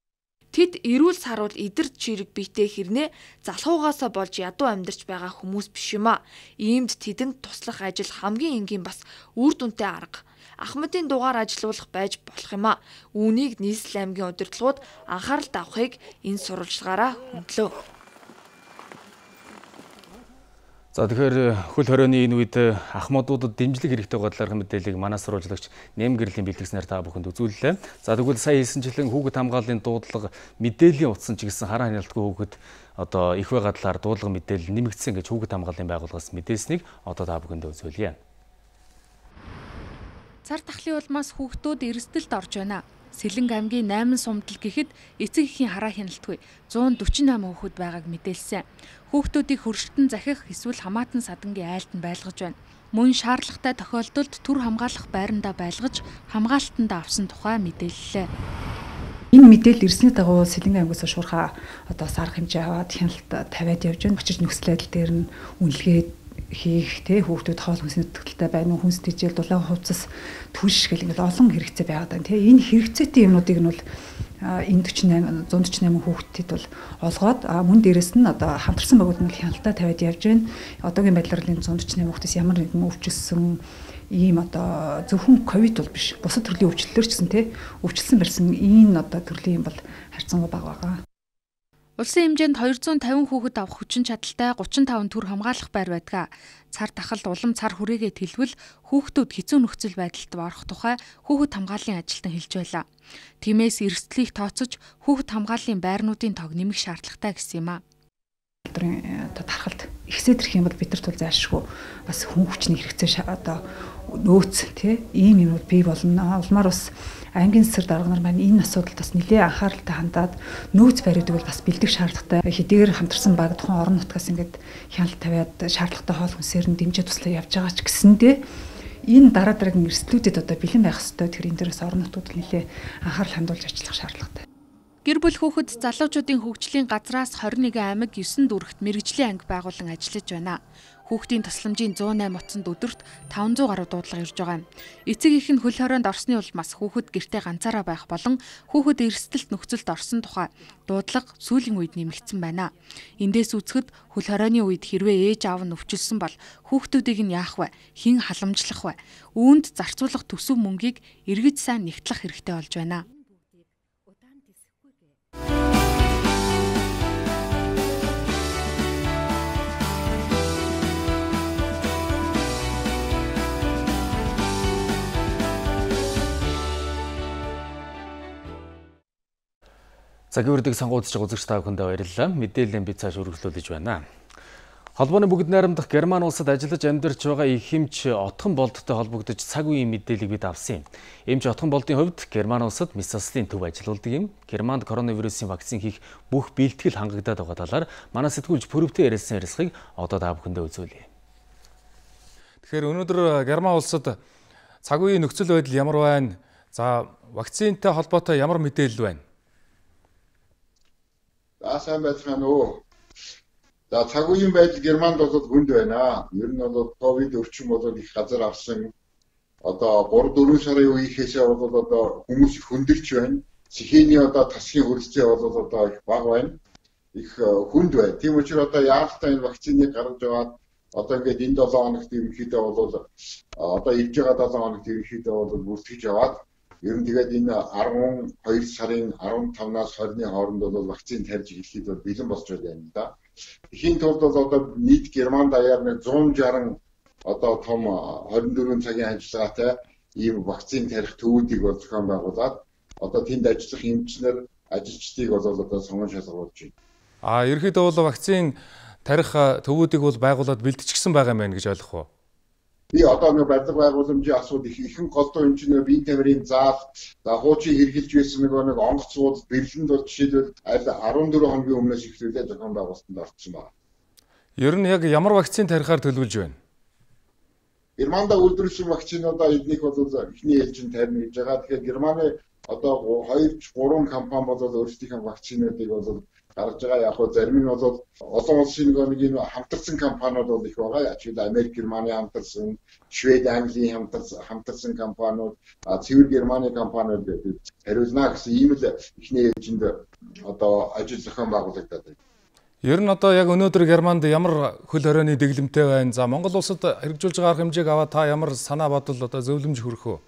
Тэд эрүүл саруул эдэр чирэг биетэй хэрнээ залхуугаасаа болж ядуу амьдарч байгаа хүмүүс биш юм а. Иймд тэдэнд туслах ажил хамгийн энгийн бас үр дүнтэй арга. Ахмадын дугаар ажилуулах байж болох юм а. Үүнийг нийслэл аймгийн удирдлагууд анхаарал тавихыг энэ сурвалжлагаараа хөндлөө. За тэгэхээр хөл хорионы энэ үед ахмадуудад дэмжлэг хэрэгтэй бодлоор мэдээллийг манай сурвалжлагч нэм гэрлийн бэлтгэснээр та бүхэнд үзүүллээ. За тэгвэл сая хэлсэнчлэн хүүхэд хамгааллын дуудлага мэдээллийн утсан ч гэсэн хараа хяналтгүй хүүхэд одоо их байгаа талаар дуудлага мэдээлэл нэмэгдсэн гэж хүүхэд хамгааллын байгууллагаас мэдээснийг одоо та бүхэнд үзүүлье. Цар тахлын улмаас хүүхдүүд эрсдэлд орж байна. Сэлэнг аймгийн найман сумдал гэхэд эцэг эхийн хараа хяналтгүй зуун дөрвөн восемь хүүхэд байгааг мэдээлсэн. Хүүхдүүдийг хөршөлтөн захих эсвэл хамаатан садангийн айлд нь байлгаж байна. Мөн шаардлагатай тохиолдолд түр хамгаалах байрандаа байлгаж хамгаалтанд авсан тухай мэдээллээ. Энэ мэдээлэл ирсний дагуу Сэлэнг аймгаас шуурхаа одоо сарх хэмжээ аваад хяналт тавиад явж байна. Очиж нөхцөл байдал дээр нь үнэлгээд хийх те хүүхдүүд хоол хүнсний төгөлтэй байна уу, хүнс тэжээл дулаан хувцас түлш гэл ингээд олон хэрэгцээ байгаад байна те. Энэ хэрэгцээтэй юмнуудыг нь бол энэ зуун дөрвөн восемь хүүхдэд бол олгоод мөн дээрэс нь одоо хамтарсан байгууллагын хяналтаа тавиад явж байна. Одоогийн байдлаар энэ зуун дөрвөн восемь хүүхдээс ямар нэгэн өвчлсөн ийм одоо зөвхөн ковид бол биш. Бусад төрлийн өвчлөлөөр ч гэсэн те өвчлсөн барьсан энэ одоо төрлийн юм бол харьцангуй бага байгаа. Улсын хэмжээнд хоёр зуун тавин хүүхэд авах хүчин чадалтай гучин таван төр хамгаалах байр байдаг. Цар тахалд улам цар хүрээгээ тэлвэл хүүхдүүд хэцүү нөхцөл байдалд орох тухай хүүхэд хамгааллын ажилтан хэлж байлаа. Тиймээс эрсдлийг тооцож хүүхэд хамгааллын байрнуудын тог нэмэх шаардлагатай гэсэн юм а. Тархалд ихсээд ирэх юм бол бид нар тул зайлшгүй бас хүн хүчний хэрэгцээ одоо нөөц тий ийм юмуд бий болно. Улмаар бас аймгийн засаг дарга нар маань энэ асуудалд бас нэлээд анхааралтай хандаад нөөц бариудаг бол бас бэлдэх шаардлагатай. Хэдийгээр хамтарсан баг тухайн орон нутгаас ингээд хяналт тавиад шаардлагатай хоол хүнсээр нь дэмжиж туслах явж байгаа ч гэсэндээ энэ дараа дараагийн эрсдлүүдэд одоо бэлэн байх ёстой. Тэр энэ дээрээс орон нутгууд нэлээд анхаарал хандуулж ажиллах шаардлагатай. Гэр бүл хүүхэд залуучуудын хөгжлийн газраас хорин нэгэн аймаг есөн дүрэгт мэрэгжлийн анги байгуулан ажиллаж байна. Хүүхдийн тусламжийн зуун найман утсанд өдөрт таван зуун гаруй дуудлага ирж байгаа юм. Эцэг их нь хөл хорионд орсны улмаас хүүхэд гэртээ ганцаараа байх болон хүүхэд эрсдэлт нөхцөлд орсон тухай дуудлага сүүлийн үед нэмэгдсэн байна. Эндээс үзэхэд хөл хорионы үед хэрвээ ээж аав нь өвчлсөн бол хүүхдүүдийг нь яах вэ? Хэн халамжлах вэ? Үүнд зарцуулах төсөв мөнгийг эргэж сайн нэгтлэх хэрэгтэй болж байна. Цагийн үрдэг сонгуудч үзэгч та бүхэндээ баярлалаа. Мэдээллийн би цааш өргөжлүүлж байна. Холбооны бүгд найрамдах Герман улсад ажиллаж амьдарч байгаа их эмч Отхон болдтой холбогдож цаг үеийн мэдээллийг бид авсан юм. Эмч Отхон болдын хувьд Герман улсад Месаслын төв ажиллаулдаг юм. Германд коронавирусын вакцин хийх бүх бэлтгэл хангагдаад байгаа талаар манай сэтгүүлч Пүрвтэй ярилцсан ярилцлагыг одоо та бүхэндээ үзүүлье. Тэгэхээр өнөөдөр Герман улсад цаг үеийн нөхцөл байдал ямар байна? За вакцинтай холбоотой ямар мэдээлэл байна? За сайн байцгаана уу. За цаг үеийн байдал Германд бол хүнд байна. Ер нь бол ковид өвчин бол их газар авсан. Одоо гурав дөрвөн сарын үеийнхээсээ бол одоо хүмүүс их хөндөрлж байна. Цэхээний одоо тасгийн хөрөлцөө бол одоо их бага байна. Их хүнд байна. Тийм учраас одоо яалтаа энэ вакциныг гаргаж аваад одоо ингээд энэ долоон хоногт ерөнхийдөө бол одоо ирж байгаа долоон хоногт ерөнхийдөө бол бүртгэж аваад ер нь тэгээд энэ арван хоёр сарын арван тавнаас хорины хооронд бол вакцин тарьж эхлэхэд бол бэлэн болж байна да. Эхийн тулд бол одоо нийт Герман даяар нэг зуун шаран одоо том хорин дөрвөн цагийн ажиллагаатай ийм вакцин тарих төвүүдийг бол зохион байгуулад одоо тэнд ажиллах эмчнэр ажилчдыг бол одоо сонгон шалгуулж байна. А ерөнхийдөө бол вакцин тарих төвүүдийг бол байгуулад бэлтжчихсэн байгаа юм байна гэж ойлгох уу? Би одоо нэг барилга байгууламжийн асуудал их ихэнх голдуу эмчнэр биеийн тамирын заал за хуучин хэрглэж байсан нэг нэг онгоцууд бэрлэнд бол жишээлбэл аль арван дөрвөн хоногийн өмнөөс эхлүүлээд зохион байгуулалтанд орсон байна. Ер нь яг ямар вакцин тарихаар төлөвлөж байна? Германда үйлдвэрлэсэн вакцинуудаа эднийх бол эхний ээлжинд тарина гэж байгаа. Тэгэхээр Германы одоо хоёр гурван компани бол өөрсдийнхээ вакцинуудыг бол гаргаж байгаа. Яг нь зарим нь бол олон улсын нэг энэ хамтарсан компаниуд бол их байгаа. Жишээлбэл Америк, Германы хамтарсан, Швед, Английн хамтарсан хамтарсан компаниуд, цэвэр Германы компаниуд хариулна гэсэн ийм л ихний ээлжинд одоо ажил зохион байгуулагдаад байна. Ер нь одоо яг өнөөдөр Германд ямар хөл хорионы дэглэмтэй байна? За Монгол улсад хэрэгжүүлж байгаа хэмжээг аваад та ямар санаа бодол одоо зөвлөмж хүргэх үү?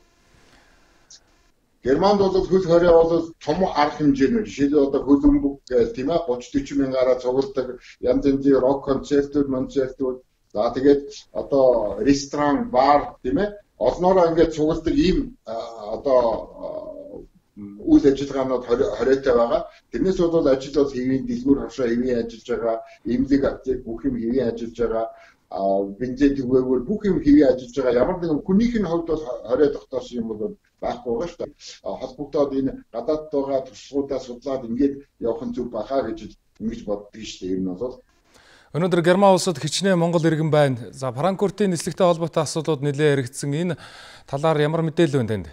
Германд бол хөл хорой бол том арга хэмжээний жишээлбэл одоо хөлбөмбөг гэх тийм ээ тридцать40 мянгаараа цугладаг янз янзын рок концертууд, концертууд за тэгээд одоо ресторан, бар тийм ээ олноороо ингээд цугладаг ийм одоо үйл ажиллагаанууд хоройтой байгаа. Тэрнээс бол ажил бол хэвийн дэлгүүр хавшаа хэвийн ажиллаж байгаа, эмнэлэг аптек бүх юм хэвийн ажиллаж байгаа. А бензин төгөөгөр бүх юм хэвийн ажиллаж байгаа. Ямар нэгэн хүнийх нь хувьд бол хорой тогтоосон юм бол байхгүй байгаа шүү дээ. Холбогдоод энэ гадаадд байгаа туршлагуудаа судлаад ингээд явах нь зөв бахаа гэж ингэж боддог шүү дээ. Ер нь бол өнөөдөр Герман улсад хичнээн Монгол иргэн байна. За Франкфуртын нислэгтэй холбоотой асуудлууд нэлээд яригдсан. Энэ талаар ямар мэдээлэл байна танд?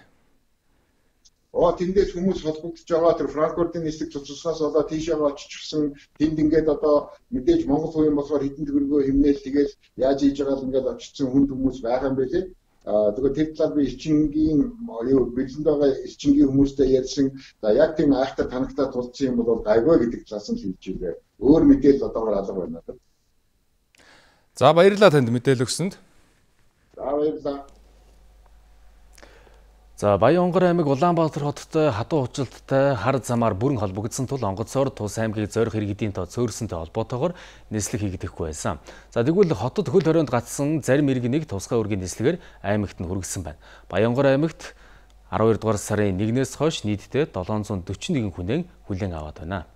Оо тэндээс хүмүүс холбогдож байгаа тэр Франкфуртын нислэг цуцлахаас болоод тийшээ оччихсан тэнд ингээд одоо мэдээж Монгол хүн болохоор хэдэн төгрөгөө хэмнээл тэгэл яаж хийж байгаа л ингээд очсон хүнд хүмүүс байгаа юм байлээ. Аа тэгэхээр тэр талаар би эрчингийн юу бэлэнд байгаа эрчингийн хүмүүстэй ярьсан. За яг тийм айхтар танагтаа тулцсан юм бол гайгүй гэдэг талаас нь хэлж байлаа. Өөр мэдээлэл одоогоор алга байна надад. За баярлалаа танд мэдээлэл өгсөнд. За баярлалаа. За Баянгор аймаг Улаанбаатар хоттой хадуу училттай хар замаар бүрэн холбогдсон тул онгоцоор тус аймгийг зорих иргэдийн тоо цөөрсөнтэй холбоотойгоор нислэг хийгдэхгүй байсан. За тэгвэл хотод хөл хорионд гацсан зарим иргэнийг тусгай үргийн нислэгээр аймагт нь хүргэсэн байна. Баянгор аймагт аравдугаар дугаар сарын нэгнээс хойш нийтдээ долоон зуун дөрвөн нэгэн хүнээ хүлээн аваад байна.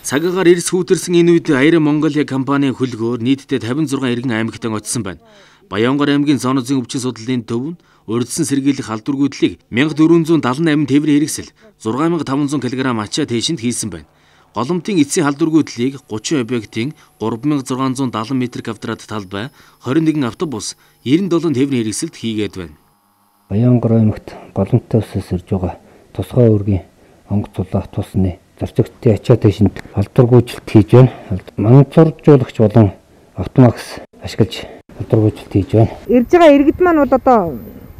Цагаагаар эрс хүүтэрсэн энэ үед Air Mongolia компанийн хөлгөөр нийтдээ тавин зургаан иргэн аймагтан очсон байна. Баянгор аймгийн зооноозын өвчин судлалын төв нь урьдчилан сэргийлэх халдваргүйдлийг мянга дөрвөн зуун даатан восемь тээврийн хэрэгсэл зургаан мянга таван зуун килограмм ачаа тээшинд хийсэн байна. Голомтын эцсийн халдваргүйдлийг гучин объектын гурван мянга зургаан зуун даатан метр квадрат талбай, хорин нэгэн автобус, девяносто долоо тээврийн хэрэгсэлд хийгээд байна. Баянгор аймагт голомттой усаас ирж байгаа тусгай үүргийн онгоц улаах тусны зарчигчдын ачаа тээшинд халдваргүйжилт хийж байна. Манцуржуулагч болон автомакс ашиглаж халдваргүйжилт хийж байна. Ирж байгаа иргэд маань бол одоо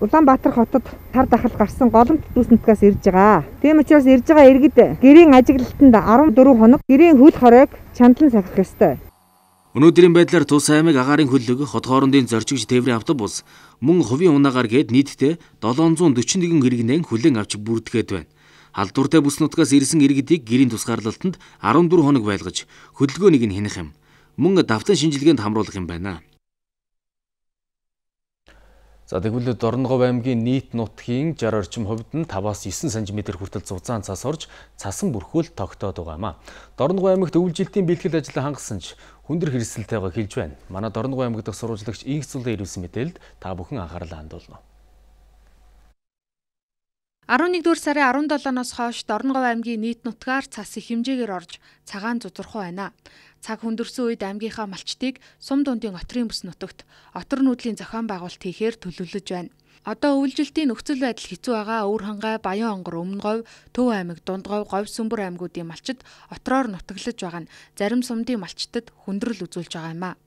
Улаанбаатар хотод тар дахал гарсан голомт дүүснэтгээс ирж байгаа. Тийм учраас ирж байгаа иргэд гэрийн ажиглалтанд арван дөрвөн хоног гэрийн хөл хоройг чандлан сахих ёстой. Өнөөдрийн байдлаар Тус аймаг агаарын хөлөг, хот хоорондын зорчигч тээврийн автобус, мөн хувийн унаагаар гээд нийтдээ долоон зуун дөрвөн нэгэн хэрэгнээ хүлээн авч бүрдгээд байна. Халдвартай бүс нутгаас ирсэн иргэдийг гэрийн тусгаарлалтанд арван дөрвөн хоног байлгаж хөдөлгөөнийг нь хянах юм. Мөн давтан шинжилгээнд хамруулах юм байна. За тэгвэл Дорногов аймгийн нийт нутгийн шарх орчим хувьд нь таваас девять сантиметр хүртэл зузаан цас орж цасан бүрхүүл тогтоод байгаа юм а. Дорногов аймагт өвлжилтийн бэлтгэл ажил хангасан ч хүндэр хэрэгсэлтэйгээ хэлж байна. Манай Дорногов аймаг дахь сурвалжлагч Инх Цулын ирүүлсэн мэдээлэлд та бүхэн анхаарлаа хандуулна. арван нэгдүгээр сарын арван долооноос хойш Дорногов аймгийн нийт нутгаар цас их хэмжээгээр орж цагаан зузурхуу байна. Цаг хүндэрсэн үед аймгийнхаа малчдыг сум дундын отрын бүс нутагт отор нүүдлийн зохион байгуулалт хийхээр төлөвлөж байна. Одоо өвлжилтийн нөхцөл байдал хэцүү байгаа Өвөрхангай, Баянгор, Өмнөговь, Төв аймаг, Дундговь, Говь Сүмбэр аймагуудын малчид отроор нутаглаж байгаа нь зарим сумдын малчдад хүндрэл үзүүлж байгаа юм а.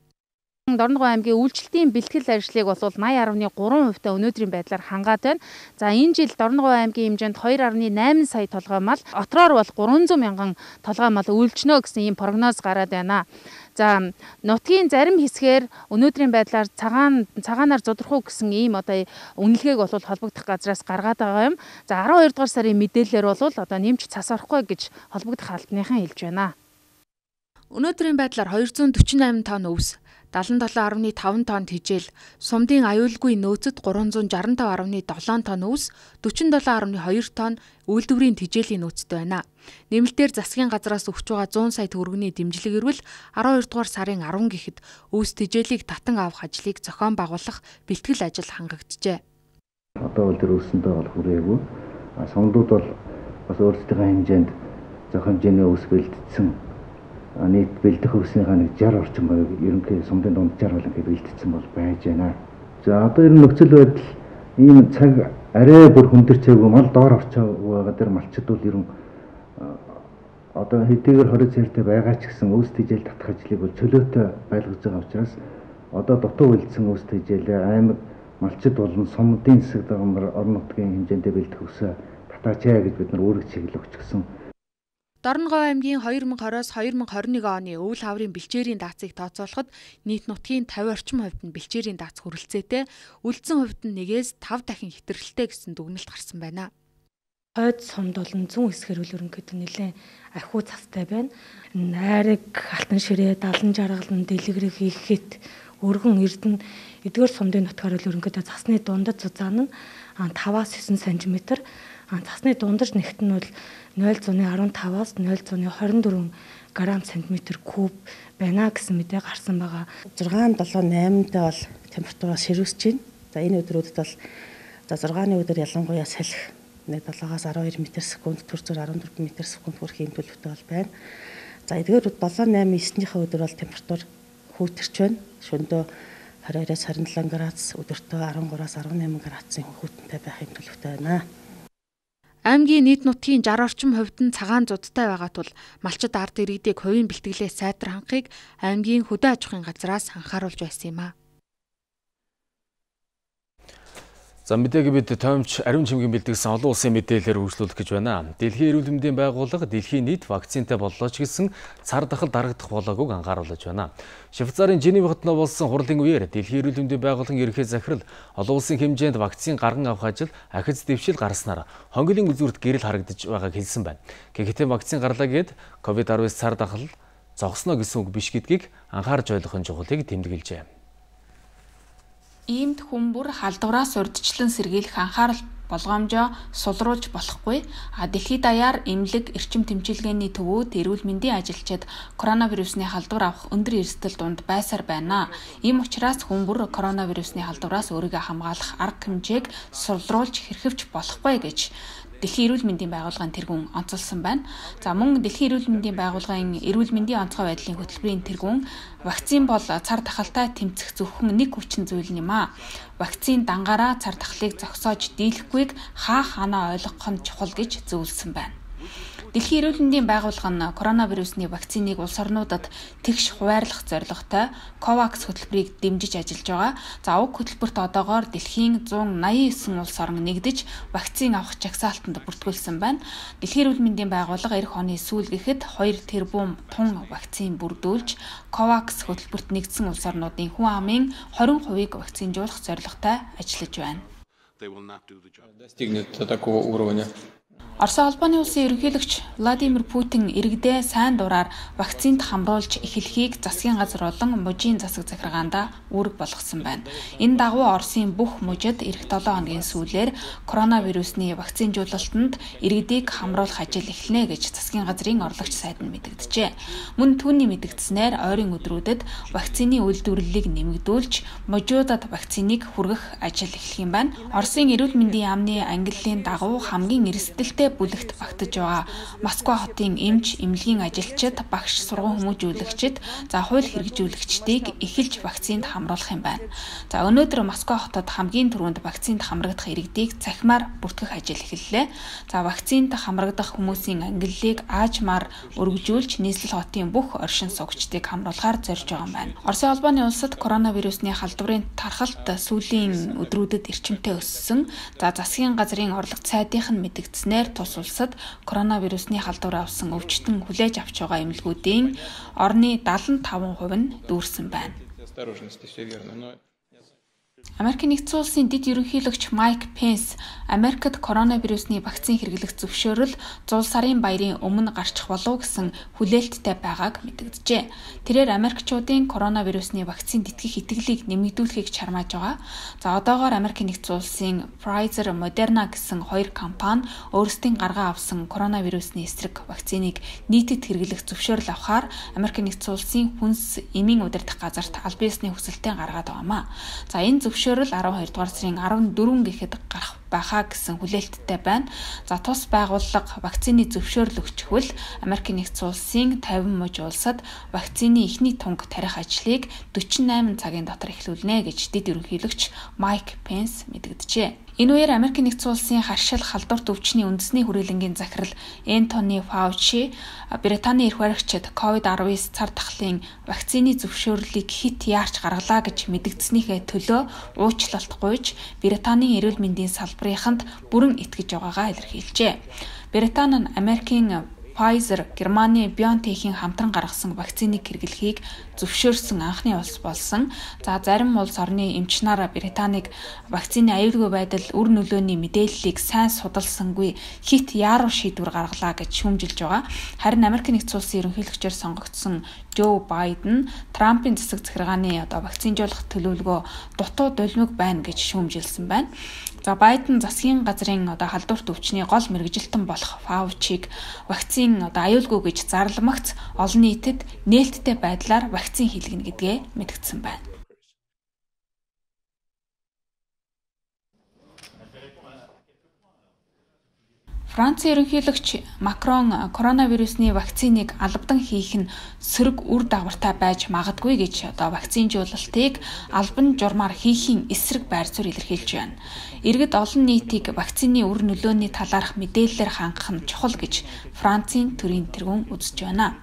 Дорногов аймгийн үйлчлэлийн бэлтгэл ажлыг бол восемь дасам три хувьтай өнөөдрийн байдлаар хангаад байна. За энэ жил Дорногов аймгийн хэмжээнд two дасам найман сая толгой мал, отроор бол trois hundred мянган толгой мал үйлчнө гэсэн ийм прогноз гараад байна. За нутгийн зарим хэсгээр өнөөдрийн байдлаар цагаан цагаанаар зодорхуу гэсэн ийм одоо үнэлгээг бол холбогдох газраас гаргаад байгаа юм. За twelve дугаар сарын мэдээлэлээр бол одоо нэмж цас орохгүй гэж холбогдох албаныхан хэлж байна. Өнөөдрийн байдлаар two hundred forty-eight тонн өвс, seventy-seven dot five тонн хижээл, сумдын аюулгүй нөөцөд three hundred sixty-five dot seven тонн өвс, forty-seven dot two тонн үйлдвэрийн хижээлийн нөөцтэй байна. Нэмэлтээр засгийн газраас өгч байгаа one hundred сая төгрөгийн дэмжлэг ирвэл twelve дугаар сарын ten гэхэд өвс хижээлийг татан авах ажлыг зохион байгуулах бэлтгэл ажил хангагджээ. Одоо бол тэр өвсөндөө бол хүрээгүй. Сумдууд бол бас өөрсдийнхөө хэмжээнд зохион хэмжээний өвс бэлтгэсэн. Нийт бэлдэх өвснийхаа нэг sixty орчим байг ерөнхий сумдын дунджаар бол ингээд бэлтгэсэн бол байж байна. За одоо ер нь нөхцөл байдал ийм цаг арай бүр хүндэрчээгүй мал доор орчоо байгаа дэр малчид бол ер нь одоо хэдийгээр twenty цартай байгаа ч гэсэн өвс тэжээл татах ажлыг бол чөлөөтэй байлгаж байгаа учраас одоо дутуу үлдсэн өвс тэжээлээ аймаг малчид болон сумдын засаг даргамар орон нутгийн хэмжээндээ бэлдэх өвсөө татаачаа гэж бид нар үүрэг чиглэл өгч гисэн. Дорногов аймгийн twenty twenty-оос twenty twenty-one оны өвөл хаврын бэлчээрийн даацыг тооцоолоход нийт нутгийн fifty орчим хувьд нь бэлчээрийн даац хүрэлцээтэй, үлдсэн хувьд нь one-ээс five дахин хэтэрхэлтэй гэсэн дүгнэлт гарсан байна. Хойд сумд болон зүүн хэсгээр үл ерөнхийдөө нэлээд ахиу цастай байна. Найраг, алтан ширээ, далан жаргалан, дэлгэрэг хийхэд өргөн эрдэнэ эдгээр сумдын нутгаар үл ерөнхийдөө цасны дундад зузаан нь five-аас nine сантиметр, цасны дундарч нэгт нь бол zero point five-аас zero point two four грамм сантиметр куб байна гэсэн мэдээ гарсан байгаа. six seven eight дэ бол температураа ширүүсэж байна. За энэ өдрүүдэд бол за six-ны өдөр ялангуяа салхи seven-аас twelve метр секунд, төрцөөр fourteen метр секунд хүрэх юм төлөвтэй бол байна. За эдгээр seven eight nine-ийнхээ өдөр бол температур хүүтэрч байна. Шөнөдөө twenty-two-аас twenty-seven градус, өдөртөө thirteen-аас eighteen градусын хүүтэнтэй байх юм төлөвтэй байна. Аймгийн нийт нутгийн sixty орчим хувьд нь цагаан зудтай байгаа тул малчид ард иргэдийг хувийн бэлтгэлээс сайтар хангахыг аймгийн хөдөө аж ахуйн газраас анхааруулж байсан юм а. За мэдээг бид томч ариун чимгийн бэлтгэсэн олон улсын мэдээлэлээр үргэлжлүүлэх гэж байна. Дэлхийн эрүүл мэндийн байгууллага дэлхийн нийт вакцинтай боллоо ч гэсэн цар тахал дарагдах болоогүйг анхааруулж байна. Швейцарын Женев хотноо болсон хурлын үеэр дэлхийн эрүүл мэндийн байгууллагын ерөнхий захирал олон улсын хэмжээнд вакцин гарган авах ажил ахиц дэвшил гарснаар хонголын үзүүрт гэрэл харагдаж байгааг хэлсэн байна. Гэхдээ вакцин гарлаа гээд ковид nineteen цар тахал зогсноо гэсэн үг биш гэдгийг анхаарч ойлгох нь чухлыг тэмдэглэжээ. Иймд хүн бүр халдвараас урьдчилан сэргийлэх анхаарал болгоомжоо сулруулж болохгүй. А дэлхийд даяар эмнэлэг, эрчим тэмчилгээний төвүүд, эрүүл мэндийн ажилчид коронавирусны халдвар авах өндөр эрсдэл дунд байсаар байна. Ийм учраас хүн бүр коронавирусны халдвараас өөрийгөө хамгаалах арга хэмжээг сулруулж хэрхэвч болохгүй гэж Дэлхийн эрүүл мэндийн байгууллагын тэргүүн онцолсон байна. За мөн Дэлхийн эрүүл мэндийн байгууллагын эрүүл мэндийн онцгой байдлын хөтөлбөрийн тэргүүн вакцин бол цар тахалтай тэмцэх зөвхөн нэг хүчин зүйл юм а. Вакцин дангаараа цар тахлыг зогсоож дийлэхгүйг хаа хаанаа ойлгох нь чухал гэж зөвлөсөн байна. Дэлхийн эрүүл мэндийн байгууллага нь коронавирусны вакциныг улс орнуудад тэгш хуваарлах зорилготой COVAX хөтөлбөрийг дэмжиж ажиллаж байгаа. За уг хөтөлбөрт одоогоор дэлхийн зуун наяан девять улс орн нэгдэж вакцин авах жагсаалтанд бүртгүүлсэн байна. Дэлхийн эрүүл мэндийн байгууллага эх оны сүүл гэхэд хоёр тэрбум тун вакцин бүрдүүлж COVAX хөтөлбөрт нэгдсэн улс орнуудын хүн амын twenty percent-ийг вакцинжуулах зорилготой ажиллаж байна. Достигнет такого уровня. Оросын холбооны улсын ерөнхийлөгч Владимир Путин иргэдээ сайн дураар вакцинд хамруулж эхлэхийг засгийн газар болон мужийн засаг захиргаанда үүрэг болгосон байна. Энэ дагуу Оросын бүх мужид эх seven хоногийн сүүлээр коронавирусны вакцинжуулалтанд иргэдийг хамруулах ажил эхэлнэ гэж засгийн газрын орлогч сайд нь мэдэгджээ. Мөн түүний мэдэгдснээр ойрын өдрүүдэд вакцины үйлдвэрлэлийг нэмэгдүүлж мужуудад вакциныг хүргэх ажил эхлэх юм байна. Оросын эрүүл мэндийн яамны ангиллын дагуу хамгийн эрсдэлтэй бүлэгт багтаж байгаа Москва хотын эмч, эмнэлгийн ажилчид, багш, сургууль хүмүүжүүлэгчид, за хууль хэрэгжүүлэгчдийг эхэлж вакцинд хамруулах юм байна. За өнөөдөр Москва хотод хамгийн түрүүнд вакцинд хамрагдах иргэдийг цахимаар бүртгэх ажил эхэллээ. За вакцинд хамрагдах хүмүүсийн ангиллыг аажмаар өргөжүүлж нийслэл хотын бүх оршин суугчдыг хамруулахаар зорж байгаа юм байна. Оросын холбооны улсад коронавирусны халдварын тархалт сүүлийн өдрүүдэд эрчимтэй өссөн. За засгийн газрын орлогч сайдынх нь мэдэгдснээр тус улсад коронавирусны халдвар авсан өвчтөн хүлээж авч байгаа эмнэлгүүдийн орны seventy-five percent нь дүүрсэн байна. Америкийн нэгдсэн улсын дэд ерөнхийлөгч Майк Пенс Америкт коронавирусны вакцин хэрэглэх зөвшөөрөл зуул сарын баярын өмнө гарчих болов гэсэн хүлээлттэй байгааг мэдэгджээ. Тэрээр Америкчуудын коронавирусны вакцинд итгэх итгэлийг нэмэгдүүлэхийг чармааж байгаа. За одоогоор Америкийн нэгдсэн улсын Pfizer, Moderna гэсэн хоёр компани өөрсдийн гаргаа авсан коронавирусны эсрэг вакциныг нийтэд хэрэглэх зөвшөөрөл авахаар Америкийн нэгдсэн улсын хүнс эмийн удирдах газарт аль биесний хүсэлтээ гаргаад байгаамаа. За энэ зөвшөөрөл twelve дугаар сарын fourteen гэхэд гарах байхаа гэсэн хүлээлттэй байна. За тус байгууллага вакцины зөвшөөрөл өгчихвөл Америкийн нэгдсэн улсын fifty муж улсад вакцины эхний тунг тарих ажлыг forty-eight цагийн дотор эхлүүлнэ гэж дэд ерөнхийлөгч Майк Пенс мэдэгджээ. Энэ үеэр Америкийн нэгдсэн улсын харшил халдварт өвчний үндэсний хүрээлэнгийн захирал Энтони Фаучи Британий эрх баригчид ковид nineteen цар тахлын вакцины зөвшөөрлийг хит яарч гаргалаа гэж мэдэгдснийхээ төлөө уучлалт гуйж Британий эрүүл мэндийн салбарынханд бүрэн итгэж байгаагаа илэрхийлжээ. Британи нь Америкийн Pfizer, Германы BioNTech-ийн хамтран гаргасан вакциныг хэрэглэхийг зөвшөөрсөн анхны улс болсон. За зарим улс орны эмч нар Британиг вакцины аюулгүй байдал үр нөлөөний мэдээллийг сайн судалсангүй хит яаруу шийдвэр гаргалаа гэж шүүмжилж байгаа. Харин Америкийн нэгдсэн улсын ерөнхийлөгчөөр сонгогдсон Жо Байден Трампын засаг захиргааны одоо вакцинжуулах төлөвлөгөө дутуу дулмиг байна гэж шүүмжилсэн байна. За Байден засгийн газрын одоо халдварт өвчний гол мэргэжилтэн болох Фаучиг вакцин одоо аюулгүй гэж зарламагц олон нийтэд нээлттэй байдлаар вакцин хийлгэнэ гэдгээ мэдгдсэн байна. Францын ерөнхийлөгч Макрон коронавирусны вакциныг албадан хийх нь сөрөг үр дагавартай байж магадгүй гэж одоо вакцинжуулалтыг албан журмаар хийхийн эсрэг байр суурь илэрхийлж байна. Иргэд олон нийтийг вакцины үр нөлөөний талаарх мэдээллээр хангах нь чухал гэж Францын төрийн тэргүүн үзэж байна.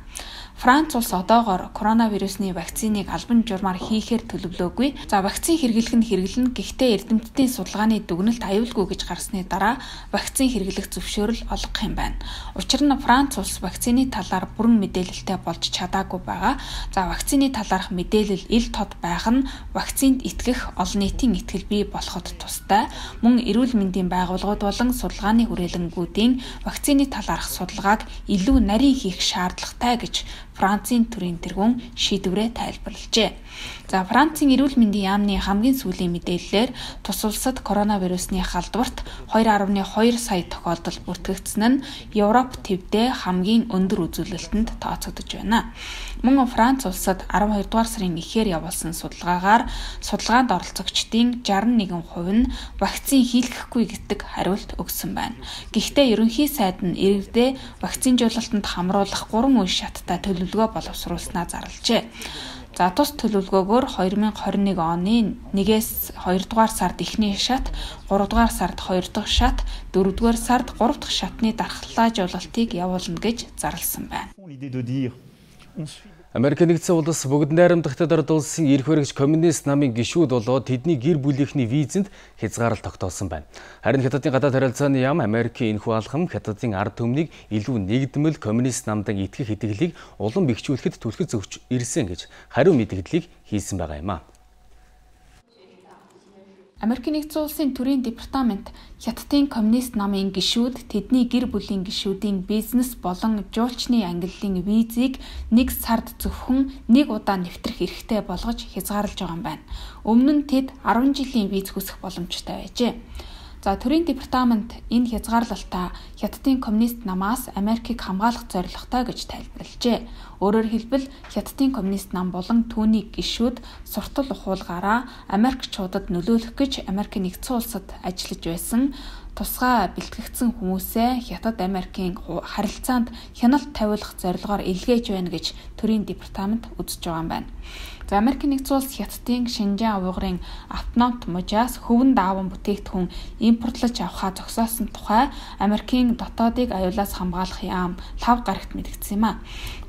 Франц улс одоогоор коронавирусны вакциныг албан журмаар хийхээр төлөвлөөгүй. За вакцин хэрэглэх нь хэрэглэнэ. Гэхдээ эрдэмтдийн судалгааны дүгнэлт аюулгүй гэж гарсны дараа вакцин хэрэглэх зөвшөөрөл олгох юм байна. Учир нь Франц улс вакцины талаар бүрэн мэдээлэлтэй болж чадаагүй байгаа. За вакцины талаарх мэдээлэл ил тод байх нь вакцинд итгэх олон нийтийн итгэл бий болоход тустай. Мөн эрүүл мэндийн байгууллагууд болон судалгааны хүрээлэнгүүдийн вакцины талаарх судалгааг илүү нарийн хийх шаардлагатай гэж Францын төрийн тэргүүн шийдвэрээ тайлбарлажээ. За Францын эрүүл мэндийн яамны хамгийн сүүлийн мэдээллээр тус улсад коронавирусны халдварт two point two сая тохиолдол бүртгэгдсэн нь Европ төвдөө хамгийн өндөр үзүүлэлтэнд тооцогдож байна. Мөн Франц улсад twelve дугаар сарын эхээр явуулсан судалгаагаар судалгаанд оролцогчдын sixty-one percent нь вакцин хийлгэхгүй гэдэг хариулт өгсөн байна. Гэхдээ ерөнхий сайд нь иргэдээ вакцинжуулалтанд хамруулах гурван үе шаттай төлөвлөгөө боловсруулснаа зарлажээ. За тус төлөвлөгөөгөөр twenty twenty-one оны нэгээс two дугаар сард эхний шат, three дугаар сард two дахь шат, four дугаар сард three дахь шатны дархлаажуулалтыг явуулна гэж зарласан байна. Америк нэгдсэн улс бүгд найрамдахтад орд улсын эрх баригч коммунист намын гишүүд болоод тэдний гэр бүлийнхний визэнд хязгаарлалт тогтоосон байна. Харин Хятадын гадаад харилцааны яам Америкийн энэхүү алхам Хятадын ард түмнийг илүү нэгдмэл коммунист намдан итгэх итгэлийг улам бэхжүүлэхэд түлхэж зөвч ирсэн гэж хариу мэдгдлийг хийсэн байгаа юм а. Америк нэгдсэн улсын төрийн департамент Хятадын коммунист намын гишүүд тэдний гэр бүлийн гишүүдийн бизнес болон жуулчны ангиллын визийг нэг сард зөвхөн нэг удаа нэвтрэх эрхтэй болгож хязгаарлаж байгаа юм байна. Өмнө нь тэд ten жилийн виз хүсэх боломжтой байжээ. За төрийн департамент энэ хязгаарлалтаа Хятадын коммунист намаас Америкийг хамгаалах зорилготой гэж тайлбарлажээ. Өөрөөр хэлбэл Хятадын коммунист нам болон түүний гишүүд суртал ухуулгаараа Америкчуудад нөлөөлөх гэж Америк нэгдсэн улсад ажиллаж байсан тусгай бэлтгэгдсэн хүмүүсээ Хятад Америкийн харилцаанд хяналт тавиулах зорилгоор илгээж байна гэж төрийн департамент үзэж байгаа юм байна. За Америк нэгдсэн улс Хятадын Шинжаан уйгурын автономт мужаас хөвөн дааван бүтээгдэхүүн импортлож авахаа зогсоосон тухай Америкийн дотоодыг аюулаас хамгаалах яам лав гарагт мэдгдсэн юм а.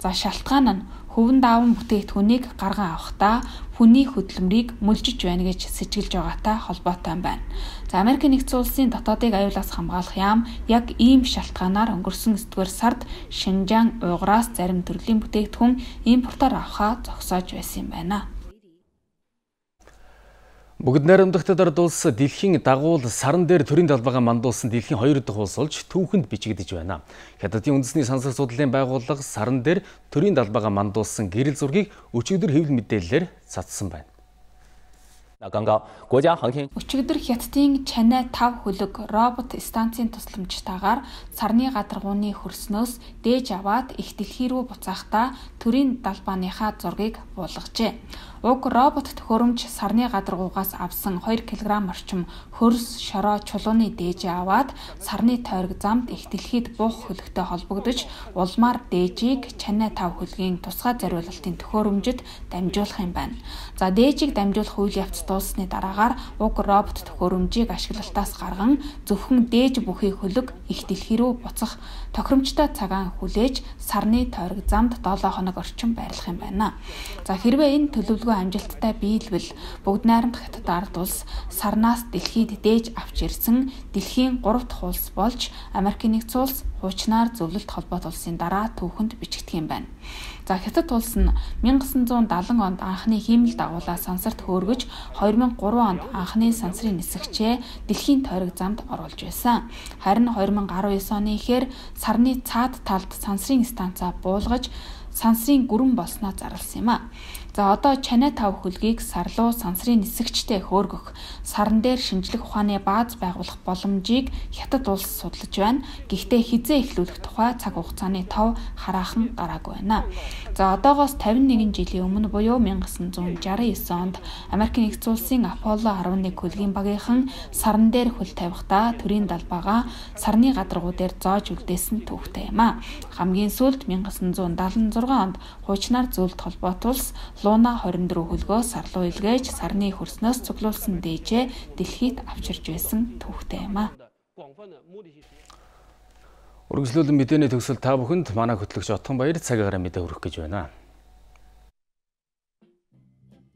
За шалтгаан нь хөвөн дааван бүтээгдэхүүнийг гарган авахдаа хүний хөдөлмөрийг мүлжиж байна гэж сэжиглэж байгаатай холбоотой юм байна. За Америк нэгдсэн улсын дотоодыг аюулаас хамгаалах яам яг ийм шалтгаанаар өнгөрсөн ninth сард Шинжаан уйгураас зарим төрлийн бүтээгдэхүүн импортоор авахаа зогсоож байсан юм байна. Бүгд найрамдахтад орд улс дэлхийн дагуул саран дээр төрийн талбайгаа мандуулсан дэлхийн хоёр дахь улс болж түүхэнд бичигдэж байна. Хятадын үндэсний сансар судлалын байгууллага саран дээр төрийн талбайгаа мандуулсан гэрэл зургийг өчигдөр хэвлэл мэдээллээр цацсан байна. Өчигдөр Хятадын Чанай five хөлөг робот станцын тусламжтайгаар сарны гадаргууны хөрснөөс дээж аваад их дэлхий рүү буцаахдаа төрийн далбааныхаа зургийг буулгажээ. Уг робот төхөөрөмж сарны гадаргуугаас авсан two килограмм орчим хөрс, шороо, чулууны дээж аваад сарны тойрог замд их дэлхийд буух хөлөгтэй холбогдож улмаар дээжийг Чанай five хөлгийн тусгай зориулалтын төхөөрөмжөд дамжуулах юм байна. За дээжийг дамжуулах үйл явц дуусны дараагаар уг робот төхөөрөмжийг ашиглалтаас гарган зөвхөн дээж бүхий хөлөг их дэлхий рүү буцах тохиромжтой цагаан хүлээж сарны тойрог замд seven хоног орчим байрлах юм байна. За хэрвээ энэ төлөвлөгөө амжилттай биелвэл бүгд найрамдах Хятад ард улс сарнаас дэлхийд дээж авч ирсэн дэлхийн three дахь улс болж Америк нэгдсэн улс хуучнаар зөвлөлт холбоот улсын дараа түүхэнд бичигдэх юм байна. За Хятад улс нь nineteen seventy онд анхны хиймэл дагуулаа сансарт хөөргөж two thousand three онд анхны сансрын нисгчээ дэлхийн тойрог замд оруулж байсан. Харин two thousand nineteen оны ихээр сарны цаад талд сансрын станцаа буулгаж сансрын гүрэн болсноо зарласан юм а. За одоо Чанай five хөлгийг сар руу сансрын нисгчтэй хөөргөх, сарн дээр шинжлэх ухааны бааз байгуулах боломжийг Хятад улс судалж байна. Гэхдээ хизээ эхлүүлэх тухай цаг хугацааны тов хараахан гараагүй байна. За одоогоос fifty-one жилийн өмнө буюу nineteen sixty-nine онд Америк нэгдсэн улсын Apollo eleven хөлгийн багийнхан сарн дээр хөл тавихдаа төрийн далбаагаа сарны гадаргуу дээр зоож үлдээсэн түүхтэй юм а. Хамгийн сүүлд nineteen seventy-six онд хуучнаар зөвлөлт холбоот улс Луна twenty-four хөлгөө сар руу илгээж сарны хөрснөөс цуглуулсан дээжээ дэлхийд авчирж байсан түүхтэй юм а. Үргэлжлүүлэн мэдээний төгсөл та бүхэнд манай хөтлөгч Отгон Баяр цагаараа мэдээ хүргэх гэж байна.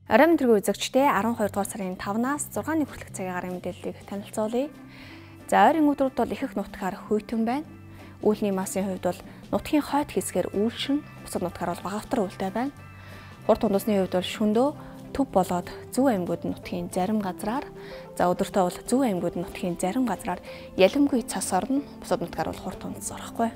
Орой мэдрэг үзэгчдээ twelve дугаар сарын five-наас six-ны хүртэлх цагийн гарын мэдээллийг танилцуулъя. За ойрын өдрүүд бол их их нутгаар хөйтөн байна. Үүлний массын хувьд бол нутгийн хойд хэсгээр үйлшин, бусад нутгаар бол багавтар үүлтэй байна. Урд тундасны хувьд бол шөнөдөө төв болоод зөв аймагуд нутгийн зарим газраар, за өдөртөө бол зөв аймагуд нутгийн зарим газраар ялимгүй цас орно, бусад нутгаар бол хурд тундас орохгүй.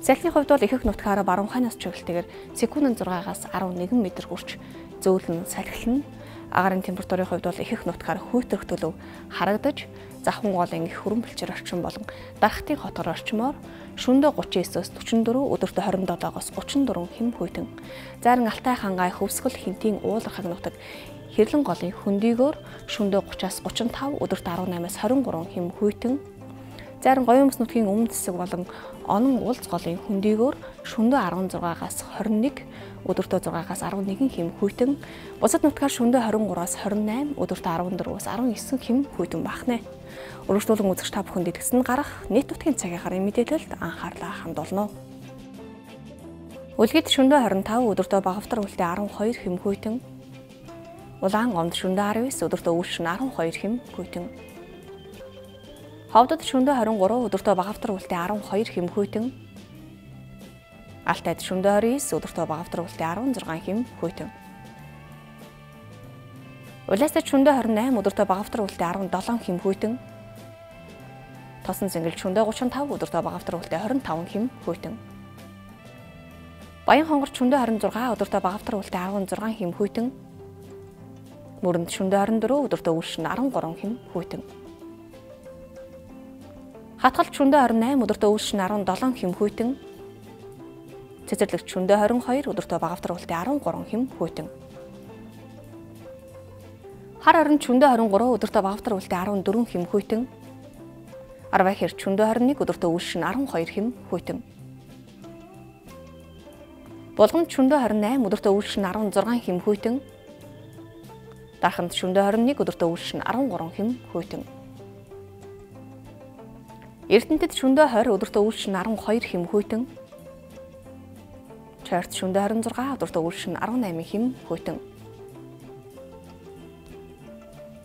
Салхины хувьд бол ихэнх нутгаараа баруун хойноос чиглэлтэйгээр секундэд зургаагаас арван нэгэн метр хүрч зөөлөн салхилна. Агаарын температурын хувьд бол ихэнх нутгаар хүйтэрх төлөв харагдаж, завхан голын их хөрөмбөлчөр орчин болон дархтын хотор орчмоор шөнөдөө гучин девятээс44, өдөртөө хорин долоогоос гучин дөрвөн хэм хүйтэн. Зарин Алтай хангай хөвсгөл хинтийн уулархаг нутаг Хэрлэн голын хөндийгөөр шөнөдөө гучаас гучин тав, өдөртөө арван наймаас хорин гурван хэм хүйтэн. Зарин Гоёмс нутгийн өмнөд хэсэг болон Онон улс голын хөндийгөөр шөнөдөө арван зургаагаас хорин нэг, өдөртөө зургаагаас арван нэгэн хэм хүйтэн. Бусад нутгаар шөнөдөө хорин гураас хорин найм, өдөртөө арван дөрвөөс арван девять хэм хүйтэн багнэ. Өргөжлүүлэн үзэгч та бүхэнд итгэсэн гарах нийт нутгийн цагийн гарын мэдээлэлд анхаарлаа хандуулна. Үлгэд шөнөдөө хорин тав, өдөртөө багавтар үлдээ арван хоёр хэм хүйтэн. Улаан гомд шөнөдөө арван девять, өдөртөө үйлшин арван хоёр хэм хүйтэн. Ховдод шөнөдөө хорин гурав, өдөртөө багавтар үлдээ арван хоёр хэм хүйтэн. Алтайд шөнөдөө хорин девять, өдөртөө багавтар үлдээ арван зургаан хэм хүйтэн. Улаастад шөнөдөө хорин восемь, өдөртөө багавтар үлдээ арван долоон хэм хүйтэн. Тосон Цэнгэл шөнөдөө гучин тав, өдөртөө багавтар үлдээ хорин таван хэм хүйтэн. Баян хонгор шөнөдөө хорин зургаан, өдөртөө багавтар үлдээ арван зургаан хэм хүйтэн. Мөрөнд шөнөдөө хорин дөрөв, өдөртөө үйлшин арван гурван хэм хүйтэн. Хатгалт шөнөдөө хорин восемь, өдөртөө үйлшин арван долоон хэм хүйтэн. Цэцэрлэгт шөнөдөө хорин хоёр, өдөртөө багавтар үлдээ арван гурван хэм хүйтэн. Хар орон шөнөдөө хорин гурав, өдөртөө багавтар үлдээ арван дөрвөн хэм хүйтэн. Арвай хэр шөнөдөө хорин нэг, өдөртөө үйлшин арван хоёр хэм хүйтэн. Булгамд шөнөдөө хорин восемь, өдөртөө үйлшин арван зургаан хэм хүйтэн. Дарханд шөнөдөө хорин нэг, өдөртөө үйлшин арван гурван хэм хүйтэн. Эрдэнэтэд шөнөдөө двадцать, өдөртөө үйлшин арван хоёр хэм хүйтэн. Чойрт шөнөдөө двадцать шесть, өдөртөө үйлшин арван восемь хэм хүйтэн.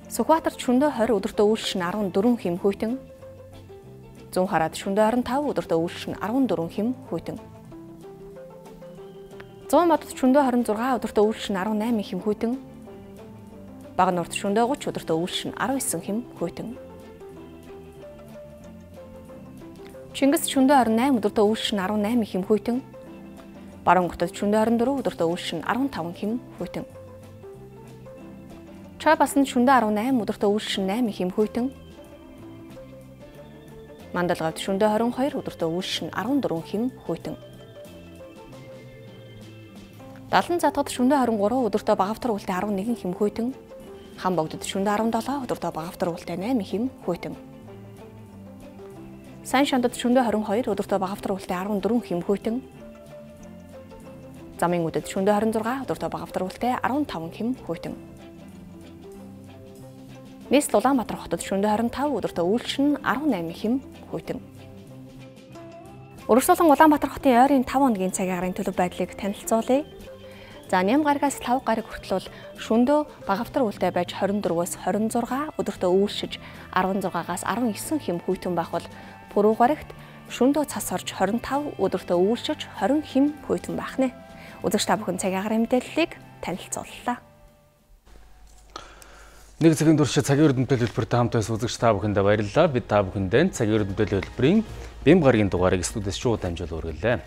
Сүхбаатарт шөнөдөө двадцать, өдөртөө үйлшин арван дөрвөн хэм хүйтэн. Зүүн хараад шөнөдөө двадцать пять, өдөртөө үйлшин арван дөрвөн хэм хүйтэн. Зүүн модод шөнөдөө двадцать шесть, өдөртөө үйлшин арван восемь хэм хүйтэн. Бага нурт шөнөдөө тридцать, өдөртөө үйлшин арван девять хэм хүйтэн. Чингис шөнөдөө двадцать восемь, өдөртөө үйлшин арван восемь хэм хүйтэн. Баруун хотод шөнөдөө двадцать четыре, өдөртөө үйлшин арван таван хэм хүйтэн. Чойбасанд шөнөдөө арван восемь, өдөртөө үйлшин восемь хэм хүйтэн. Мандалгавд шөнөдөө двадцать two, өдөртөө үйлшин арван дөрвөн хэм хүйтэн. Далан затгад шөнөдөө двадцать three, өдөртөө багавтар үлдээ арван нэгэн хэм хүйтэн. Хам богдод шөнөдөө seventeen, өдөртөө багавтар үлдээ eight хэм хүйтэн. Сайн шандад шөнөдөө двадцать two, өдөртөө багавтар үлдээ арван дөрвөн хэм хүйтэн. Замын үдэд шөнөдөө twenty six, өдөртөө багавтар үлдээ арван таван хэм хүйтэн. Нийслэл Улаанбаатар хотод шөнөдөө twenty five, өдөртөө үйлшин арван eight хэм хүйтэн. Өргөжлүүлэн Улаанбаатар хотын ойрын five хоногийн цагийн агаарын төлөв байдлыг танилцуулъя. За ням гарагаас five гараг хүртэл бол шөнөдөө багавтар үлдээ байж twenty-four-өөс twenty-six, өдөртөө үйлшиж sixteen-аас nineteen хэм хүйтэн байх бол пүрэв гарагт шөнөдөө цас орж twenty-five, өдөртөө үйлшиж twenty хэм хүйтэн байх нэ. Үзэгч та бүхэн цагийн агаарын мэдээллийг танилцууллаа. Нэг цагийн турш цагийн урд мэдээлэл хэлбэртэй хамт байсан үзэгч та бүхэндээ баярлалаа. Бид та бүхэндээ цагийн урд мэдээлэл хэлбэрийн бэм гарагийн дугаарыг студиэс шууд дамжуул өргөлээ.